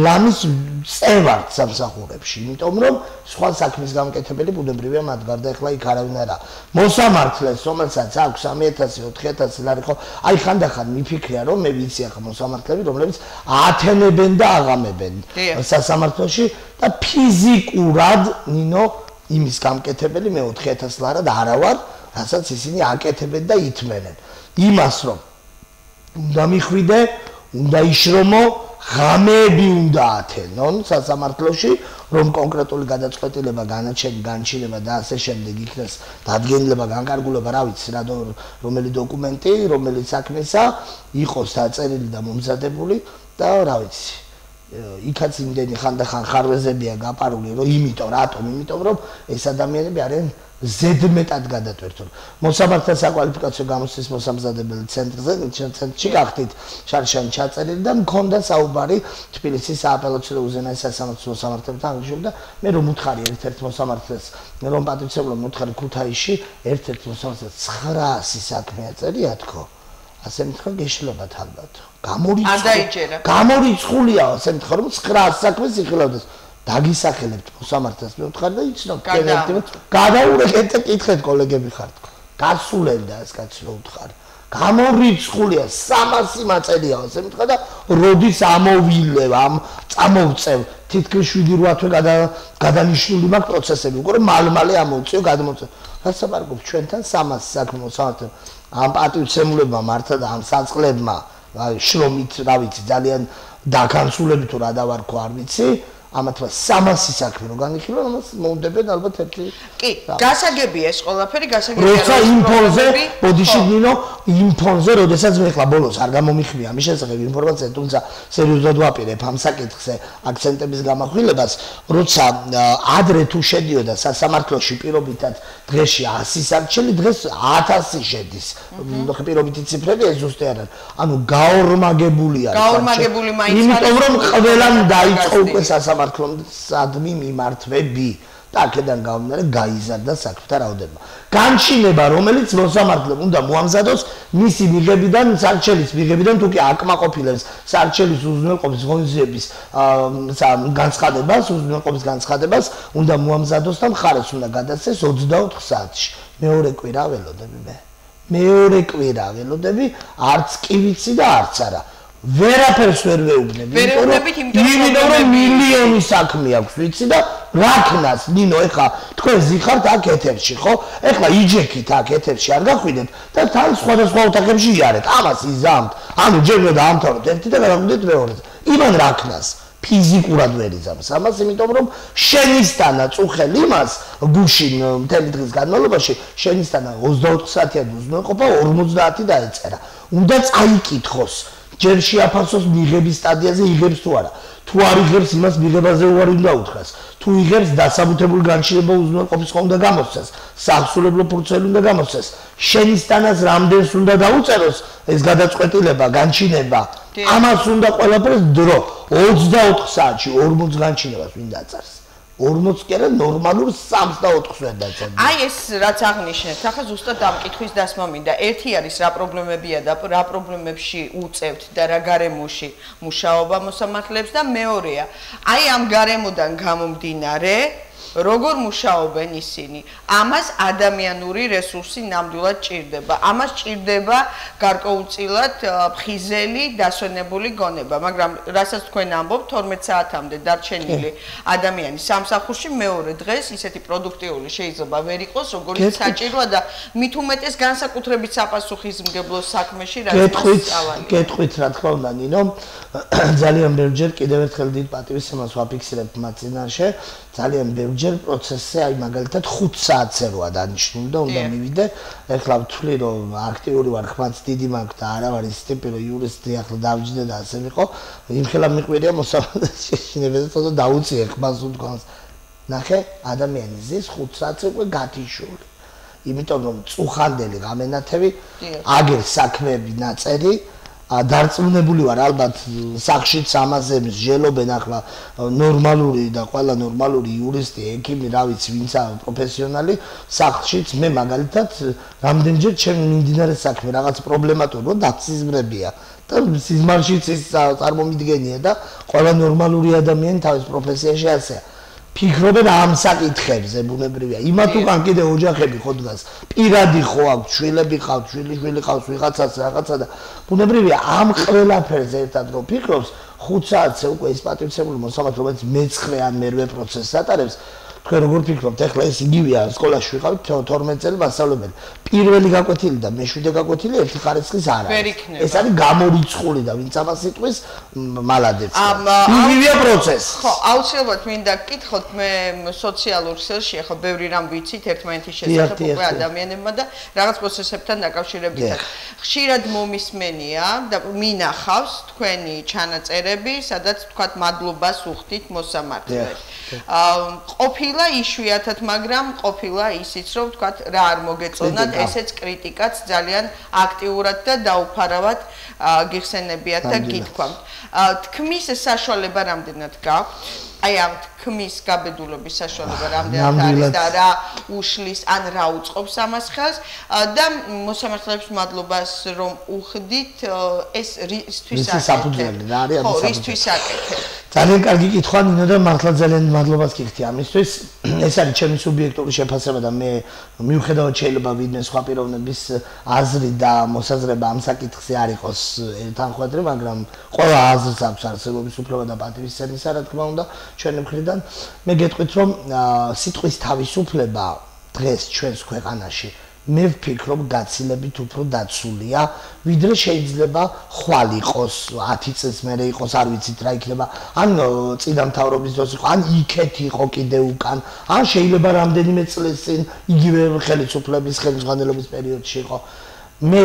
ლამის წევართ სამსახურებში, იმიტომ რომ სხვა საქმის გამკეთებელი ბუნებრივია მათ გარდა ახლა იქ არავინ არა. მოსამართლეს, რომელსაც აქვს 3000, 4000 ლარი ხო, აი ხანდახან მიფიქრია რომ მე ვიცი ახლა მოსამართლეები, რომლებიც ათენებენ და აღამებენ სასამართლოში და ფიზიკურად ნინო იმის გამკეთებელი მე 4000 ლარად არა ვარ, რასაც ისინი აკეთებენ და ითმენენ. იმას რომ უნდა მიხვიდე, უნდა იშრომო, ღამეები უნდა ათენონ სასამართლოში, რომ კონკრეტული გადაწყვეტილება, განჩინება და ასე შემდეგ იქნას დადგენილება, განკარგულება, რა ვიცი, რომელი დოკუმენტი, რომელი საქმესა იყოს დაწერილი და მომზადებული და რა ვიცი იქაც იმდენი ხანდახან ხარვეზებია გაპარული, რომ იმიტომ რომ ეს ადამიანები არიან ზედმეტად გადატვირთული. მოსამართთა საკვალიფიკაციო გამოცდის მოსამზადებელი ცენტრში გახდით შარშანი ჩაწერილი და მქონდა საუბარი თბილისის სააპელაციო და უზენაეს სასამართლო მოსამართლებთან აღნიშნული და მე რომ უთხარი ერთ-ერთ მოსამართლეს რომ პატრიციებლო უთხარი ქუთაისში ერთ-ერთ მოსამართლეს 900 საქმე აწერია თქო. ასე მითხრა გეშლებათ ალბათ. გამორიცხულია ასე მითხრა რომ 900 საქმეს იხილავდეს. დაგისახელებთ მოსამართლეს მე ვთხარ და იცნობ გადაურეკეთ და კითხეთ კოლეგები ხართ. გასულებდა ეს კაცი რო ვთხარ. გამორიცხულია 300 მაწელია ასე მითხრა და როდის ამოვილევ ამ წამოვწევ თითქმის 7-8 თვე გადანიშნული მაქვს პროცესები უკვე მალ-მალე ამოვწიო გადმოწევ. რაც საბარგობ ჩვენთან 300 საქმე მოსამართლე ამ პატივცემულებმა მართა და ამ საწყლებმა შრომით რა ვიცი ძალიან დაგანსულები თუ რა დავარქვა არ ვიცი ამათმა 300 საქმე რო განიხილო ამას მოუნდებენ ალბათ ერთი კი გასაგებია ეს ყველაფერი გასაგებია როცა იმ ფონზე ბოდიში ნინო იმ ფონზე როდესაც მე ხლა ბოლოს არ გამომიხმია ამის შესახებ ინფორმაცია თუმცა სერიოზულად ვაპირებ ამ საკითხზე აქცენტების გამახვილებას როცა ადრე თუ შედიოდა სასამართლოში პირობითად დღეში 100 სარჩელი დღეს 1000 შედის პირობითი ციფრები ეს ზუსტი არ არის ანუ გაორმაგებული არის გაორმაგებული მაინც არის იმიტომ რომ ყველამ დაიწყო უკვე სასამართლოსადმი მიმართვები და აქედან გამომდინარე გაიზარდა საქმეთა რაოდენობა. განჩინება, რომელიც მოსამართლემ უნდა მოამზადოს მისი მიღებიდან, სარჩელის მიღებიდან თუ კი აკმაყოფილებს სარჩელის უზრუნველყოფის ღონისძიების განცხადებას, უზრუნველყოფის განცხადებას უნდა მოამზადოს და მხარეს უნდა გადასცეს 24 საათში. მეორე კვირა ველოდები მე. მეორე კვირა ველოდები, არც კი ვიცი და არც არა. ვერაფერს ვერ ვეუბნები, იმიტომ რომ მილიონი საქმე აქვს, ვიცი და რაკნას, ნინო, ეხლა თქვენ ზიხართ აქ ეთერში, ხო? ეხლა იჯექით აქ ეთერში არ გახვიდეთ და თან სხვადასხვა ოთახებში იარეთ. ამას იზამთ. ანუ ჯერ უნდა დაამთავროთ ერთი და გადავიდეთ მეორეზე. იმან რაკნას ფიზიკურად ვერ იზამს. ამას იმიტომ რომ შენისთანა წუხელ იმას გუშინ მთელი დღის განმავლობაში შენისთანა 24 საათიანი უზრუნველყოფა 50 დაეწერა. უნდა წაიკითხოს ჯერ შეაფასოს მიღების სტადიაზე იღებს თუ არა. თუ არ იღებს იმას მიღებაზე უარი უნდა უთხრას. თუ იღებს დასაბუთებული განშილება უზრუნველყოფის ხომ უნდა გამოსცეს. საახსულებლო ფურცელი უნდა გამოსცეს. შენისთანაც რამდენს უნდა დაუწეროს ეს გადაწყვეტილება, განჩინება. ამას უნდა ყველაფერს დრო 24 საათში 40 განჩინებას ვინ დაწარს. 40 კი არა ნორმალურ 3-4-ს ვერ დაწერ. აი ეს რაც აღნიშნეთ, ახლა ზუსტად ამ კითხვის დასმა მინდა. ერთი არის რა პრობლემებია და რა პრობლემებში უწევთ და რა გარემოში მუშაობა მოსამართლეებს და მეორეა. აი ამ გარემოდან გამომდინარე როგორ მუშაობენ ისინი? ამას ადამიანური რესურსი ნამდვილად ჭირდება. ამას ჭირდება გარკვეულწილად ფხიზელი დასვენებული გონება, მაგრამ რასაც თქვენ ამბობთ 12 საათამდე დარჩენილი ადამიანი სამსახურში მეორე დღეს ისეთი პროდუქტიული შეიძლება ვერ იყოს, როგორც საჭიროა და მით უმეტეს განსაკუთრებით საპასუხისმგებლო საქმეში რაც მასწავლია. კეთხვით რა თქმა უნდა, ნინო, ძალიან ბევრჯერ კიდევ ერთხელ დიდ პატივისცემას ვაფიქსირებ მათ წინაშე, ძალიან ბევრჯერ პროცესზე აი მაგალითად 5 საათზე როა დანიშნული და უნდა მივიდე. ეხლა ვთვლი რომ აქტიური ვარ, ხმაც დიდი მაქვს და არა ვარ ის ტიპი რომ იურისტი ახლა დავჯდე და ასე ვიყო. იმხელა მიყვირია მოსამართლეს შეშინებაზე თორე დაუწიე ხმას უთქვას. ნახე, ადამიანი ზის 5 საათზე უკვე გათიშული. იმიტომ რომ წუხანდელი გამენათები, აგერ საქმეები ნაწერი დარწმუნებული ვარ ალბათ სახშიც ამაზე მსჯელობენ ახლა ნორმალური და ყველა ნორმალური იურისტი, ექიმი, რა ვიცი, ვინცა პროფესიონალი სახშიც მე მაგალითად რამდენჯერ ჩემ მიმდინარე საქმე რაღაც პრობლემატურია დაციზმრებია და სიზმარშიც ის წარმომიდგენია და ყველა ნორმალური ადამიანი თავის პროფესიაში ასეა. ფიქრობენ ამ საკითხებზე ბუნებრივია. იმათ უკან კიდე ოჯახები ხო დგას. პირადი ხო აქვს, შვილები ყავს, შვილი ყავს, ვიღაცას რაღაცა და ბუნებრივია ამ ყველაფერზე ერთად რო ფიქრობს, 5 საათზე უკვე ის პატივცემული მოსამართლე, რომელიც მე-9 ან მე-8 პროცესს ატარებს, თქვენ როგორ ფიქრობთ, ეხლა ეს იგივეა, სკოლაში ვიყავით 12 წელი მასწავლებელი. პირველი გაკვეთილი და მეშვიდე გაკვეთილი ერთი ხარისხის არ არის. ეს არის გამორიცხული და ვინც ამას იტყვის, მალადებს. იგივეა პროცესი. ხო, აუცილებლად მინდა გკითხოთ მე სოციალურ ქსელში, ხო, ბევრი რამ ვიცით ერთმანეთის შესახებ უკვე ადამიანებმა და რაღაც პროცესებთან დაკავშირებით. ხშირად მომისმენია და მინახავს თქვენი ჩანაწერები, სადაც თქვათ მადლობას უხდით მოსამართლეს. ყოფილა იშვიათად, მაგრამ ყოფილა ისიც, რომ თქვათ რა არ მოგეწონათ, ესეც კრიტიკაც ძალიან აქტიურად და დაუფარავად გიხსენებიათ და გითქვამთ. თქმის საშუალება რამდენად გაქვთ? აი ამ თქმის გაბედულობის საშუალება რამდენად არის და რა უშლის ან რა უწყობს ამას ხელს და მოსამართლეებს მადლობას რომ უხდით ეს რისთვის აკეთებთ? ხო, რისთვის აკეთებთ? ძალიან კარგი კითხვა ნინო და მართლა ძალიან მადლობას გიხდი ამისთვის. ეს არის ჩემი სუბიექტური შეფასება და მე მიუხედავად შეიძლება ვინმე სხვა პიროვნების აზრი და მოსაზრება ამ საკითხზე არ იყოს ერთანხვედრი, მაგრამ ყველა აზრს აქვს არსებობის უფლება და პატივისცემისა, რა თქმა უნდა, ჩვენი მხრიდან. მე გეტყვით რომ სიტყვის თავისუფლება დღეს ჩვენს ქვეყანაში მე ვფიქრობ გაცილებით უფრო დაცულია, ვიდრე შეიძლება ხვალ იყოს 10 წელს მერე იყოს, არ ვიცით რა იქნება, ან წინა მთავრობის დროს იყო, ან იქეთ იყო კიდე უკან, ან შეიძლება რამდენიმე წელს წინ იგივე ხელისუფლების ხელმძღვანელობის პერიოდში იყო. მე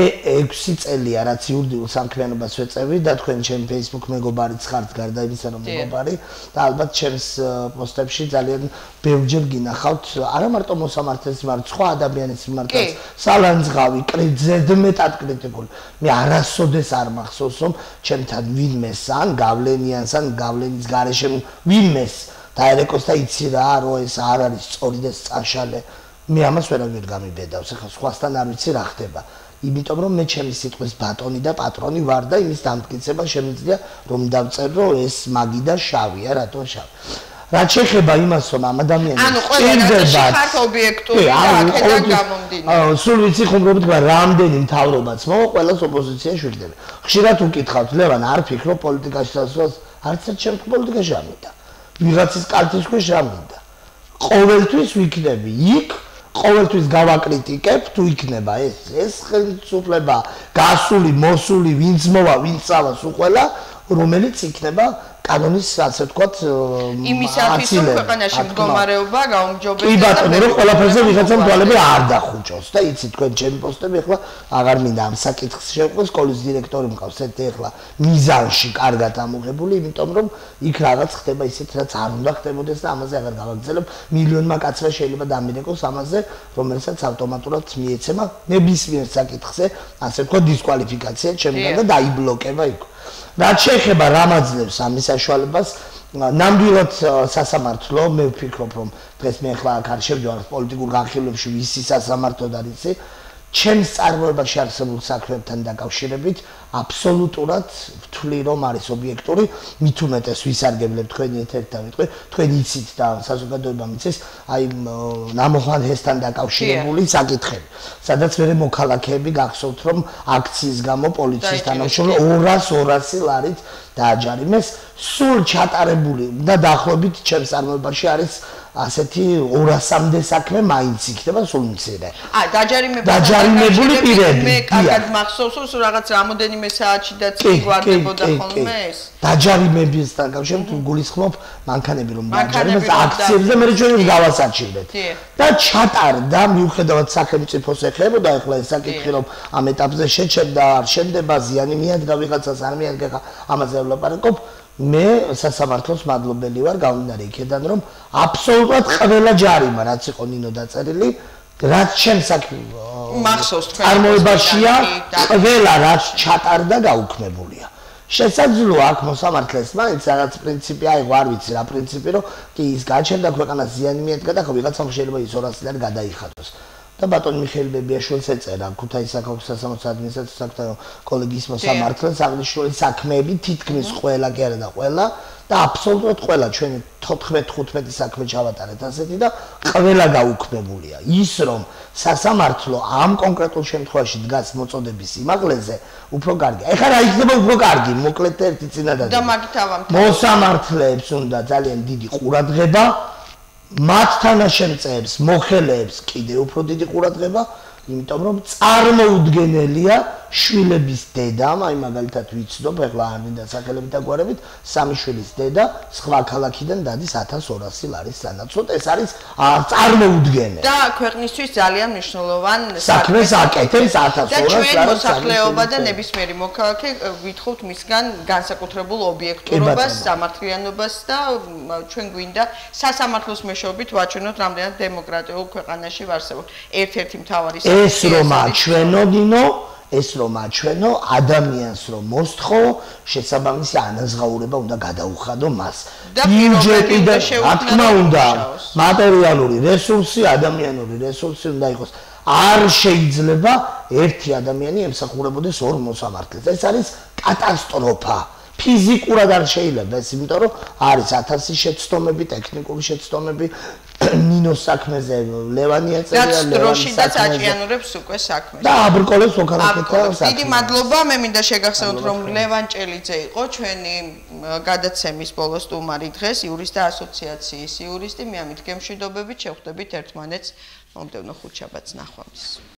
6 წელია რაც იურიდიულ სამქმიანობას ვეწევი და თქვენ ჩემ Facebook მეგობარიც ხართ გარდა იმისა რომ მეგობარი და ალბათ ჩემს პოსტებში ძალიან ბევრჯერ გინახავთ არა მარტო მოსამართლეს მიმართ სხვა ადამიანის მიმართაც სალანძღავი ზედმეტად კრიტიკული მე არასოდეს არ მახსოვს რომ ჩემთან ვინმეს ან გავლენიანს ან გავლენის გარეშე ვინმეს დაერეკოს და იცი რა რომ ეს არ არის სწორი და სწაშალე მე ამას ვერავინ გამიბედავს ახლა სხვასთან არ ვიცი რა ხდება იმიტომ რომ მე ჩემი სიტყვის ბატონი და პატრონი ვარ და იმის დამტკიცება შემიძლია რომ დავწერო ეს მაგი და შავია რატო შავი რაც შეეხება იმას რომ ამ ადამიანს ანუ ყველა ხართ ობიექტური და აქედან გამომდინარე სულ ვიცი ხუმრობით რამდენი მთავრობაც მოვა ყველას ოპოზიციაში ვიგდები ხშირად უკითხავთ ლევან არ ფიქრო პოლიტიკაში დასვლას არც ერთ შემთხვევაში პოლიტიკაში არ მინდა ვიღაცის კალთის ქვეშ არ მინდა ყოველთვის ვიქნები იქ ყოველთვის გავაკრიტიკებ თუ იქნება ეს ხელისუფლება გასული მოსული ვინც მოვა ვინც წავა სულ ყველა რომელიც იქნება კანონის ასე ვთქვათ იმისათვის რომ ქვეყანაში მდგომარეობა გაუმჯობესდეს კი ბატონო რომ ყველაფერზე ვიღაცამ თვალები არ დახუჭოს და იცი თქვენ ჩემი პოსტები ახლა აღარ მინდა ამ საკითხს შევყვეს სკოლის დირექტორი მყავს ერთ ახლა მიზანში კარგად ამოღებული იმიტომ რომ იქ რაღაც ხდება ისეთ რაც არ უნდა ხდებოდეს და ამაზე აღარ გავაგრძელებ მილიონმა კაცმა შეიძლება დამირეკოს ამაზე რომელსაც ავტომატურად მიეცემა ნებისმიერ საკითხზე ასე ვთქვათ დისკვალიფიკაცია ჩემგან და დაიბლოკება იქ რაც შეეხება რამაძლევს ამის საშუალებას ნამდვილად სასამართლო მე ვფიქრობ რომ დღეს მე ახლა აქ არ შევდივარ პოლიტიკურ განხილვებში ვისი სასამართლოდ არის ჩემს წარმოებაში არსებულ საქმეებთან დაკავშირებით აბსოლუტურად ვთვლი რომ არის ობიექტური მით უმეტეს ვისარგებლებ თქვენი ეთერით და ვიტყვი თქვენ იცით და საზოგადოებამ იცის აი ნამოხან ჰესთან დაკავშირებული საკითხები სადაც მე მოქალაქეები გახსოვთ რომ აქციის გამო პოლიციის თანამშრომლები 200 ლარით დააჯარიმეს სულ ჩატარებული და დაახლოებით ჩემს წარმოებაში არის ასეთი 200-მდე საქმე მაინც იქნება სულ მცირე. დაჯარიმებული პირები. მე კარგად მახსოვს რომ რაღაც რამოდენიმე საათში და წიგვარდებოდა ხოლმე ეს. დაჯარიმებისთან კავშირებით გულისხმობ მანქანები რომ დაჯარიმეს აქციებზე მე ჩვენი გავასაჩივრდეთ. და ჩატარდა მიუხედავად სახელმწიფოს ეხებოდა ახლა ეს საკითხი რომ ამ ეტაპზე შეჩერდა არ შემდება ზიანი მიადგა ვიღაცას არ მიადგა ამაზე ვლაპარაკობ მე სასამართლოს მადლობელი ვარ გამომდინარე იქედან რომ აბსოლუტურად ყველა ჯარიმა რაც იყო ნინო დაწერილი რაც ჩემს მახსოვს თქვენ წარმოებაშია ყველა რაც ჩატარდა გაუქმებულია შესაძლოა აქ მოსამართლეს მაინც რაღაც პრინციპი აიღო არ ვიცი რა პრინციპი რომ კი ის გაჩერდა ქვეყანას ზიანი მიადგა და ხო ვიღაცამ შეიძლება ის 200 ლარი გადაიხადოს და ბატონ მიხეილ ბებიაშვილს ეწერა ქუთაისის საქალაქო სასამართლოს ადმინისტრაციის საკუთარ კოლეგიის მოსამართლეს აღნიშნული საქმეები თითქმის ყველა კი არა და ყველა და აბსოლუტურად ყველა ჩვენი 14-15 საქმე ჩავატარეთ ასეთი და ყველა გაუქმებულია ის რომ სასამართლო ამ კონკრეტულ შემთხვევაში დგას მოწოდების იმაღლეზე უფრო კარგი ეხლა რა იქნება უფრო კარგი მოკლედ ერთი წინადადება და მაგით ავამთავრებ მოსამართლეებს უნდა ძალიან დიდი ყურადღება მათ თანაშემწეებს, მოხელეებს კიდევ უფრო დიდი ყურადღება, იმიტომ რომ წარმოუდგენელია შვილების დედამ, აი მაგალითად ვიცნობ, ეხლა არ მინდა სახელებით დაგვარებით, სამი შვილის დედა სხვა ქალაქიდან დადის 1200 ლარის სანაცვლოდ, ეს არის წარმოუდგენელი. და ქვეყნისთვის ძალიან მნიშვნელოვან საქმეს აკეთებს 1200 და ჩვენ ლარის მოსახლეობა და ნებისმიერი მოქალაქე ვითხოვთ მისგან განსაკუთრებულ ობიექტურობას, სამართლიანობას და ჩვენ გვინდა სასამართლოს მეშვეობით ვაჩვენოთ, რამდენად დემოკრატიულ ქვეყანაში ვარსებობთ. ერთ-ერთი მთავარი ეს რომ აჩვენო დინო, ეს რომ აჩვენო ადამიანს რომ მოსთხოვ, შესაბამისი ანაზღაურება უნდა გადაუხადო მას. ბიუჯეტი და რა თქმა უნდა, მატერიალური რესურსი, ადამიანური რესურსი უნდა იყოს. არ შეიძლება ერთი ადამიანი ემსახურებოდეს ორ მოსამართლეს. ეს არის კატასტროფა. ფიზიკურად არ შეიძლება ეს, იმიტომ რომ არის 1000 შეცდომები, ტექნიკური შეცდომები, ნინოს საქმეზე ლევანი ეწერია, ლევანი და საჭიანურებს უკვე საქმეს. და აბრკოლებს ოქარაკეთა საქმე. დიდი მადლობა, მე მინდა შეგახსენოთ, რომ ლევან ჭელიძე იყო ჩვენი გადაცემის ბოლო სტუმარი დღეს, იურისტთა ასოციაციის იურისტი. მე ამით გემშვიდობებით შევხვდებით ერთმანეთს მომდევნო ხუთშაბათს ნახვამდის.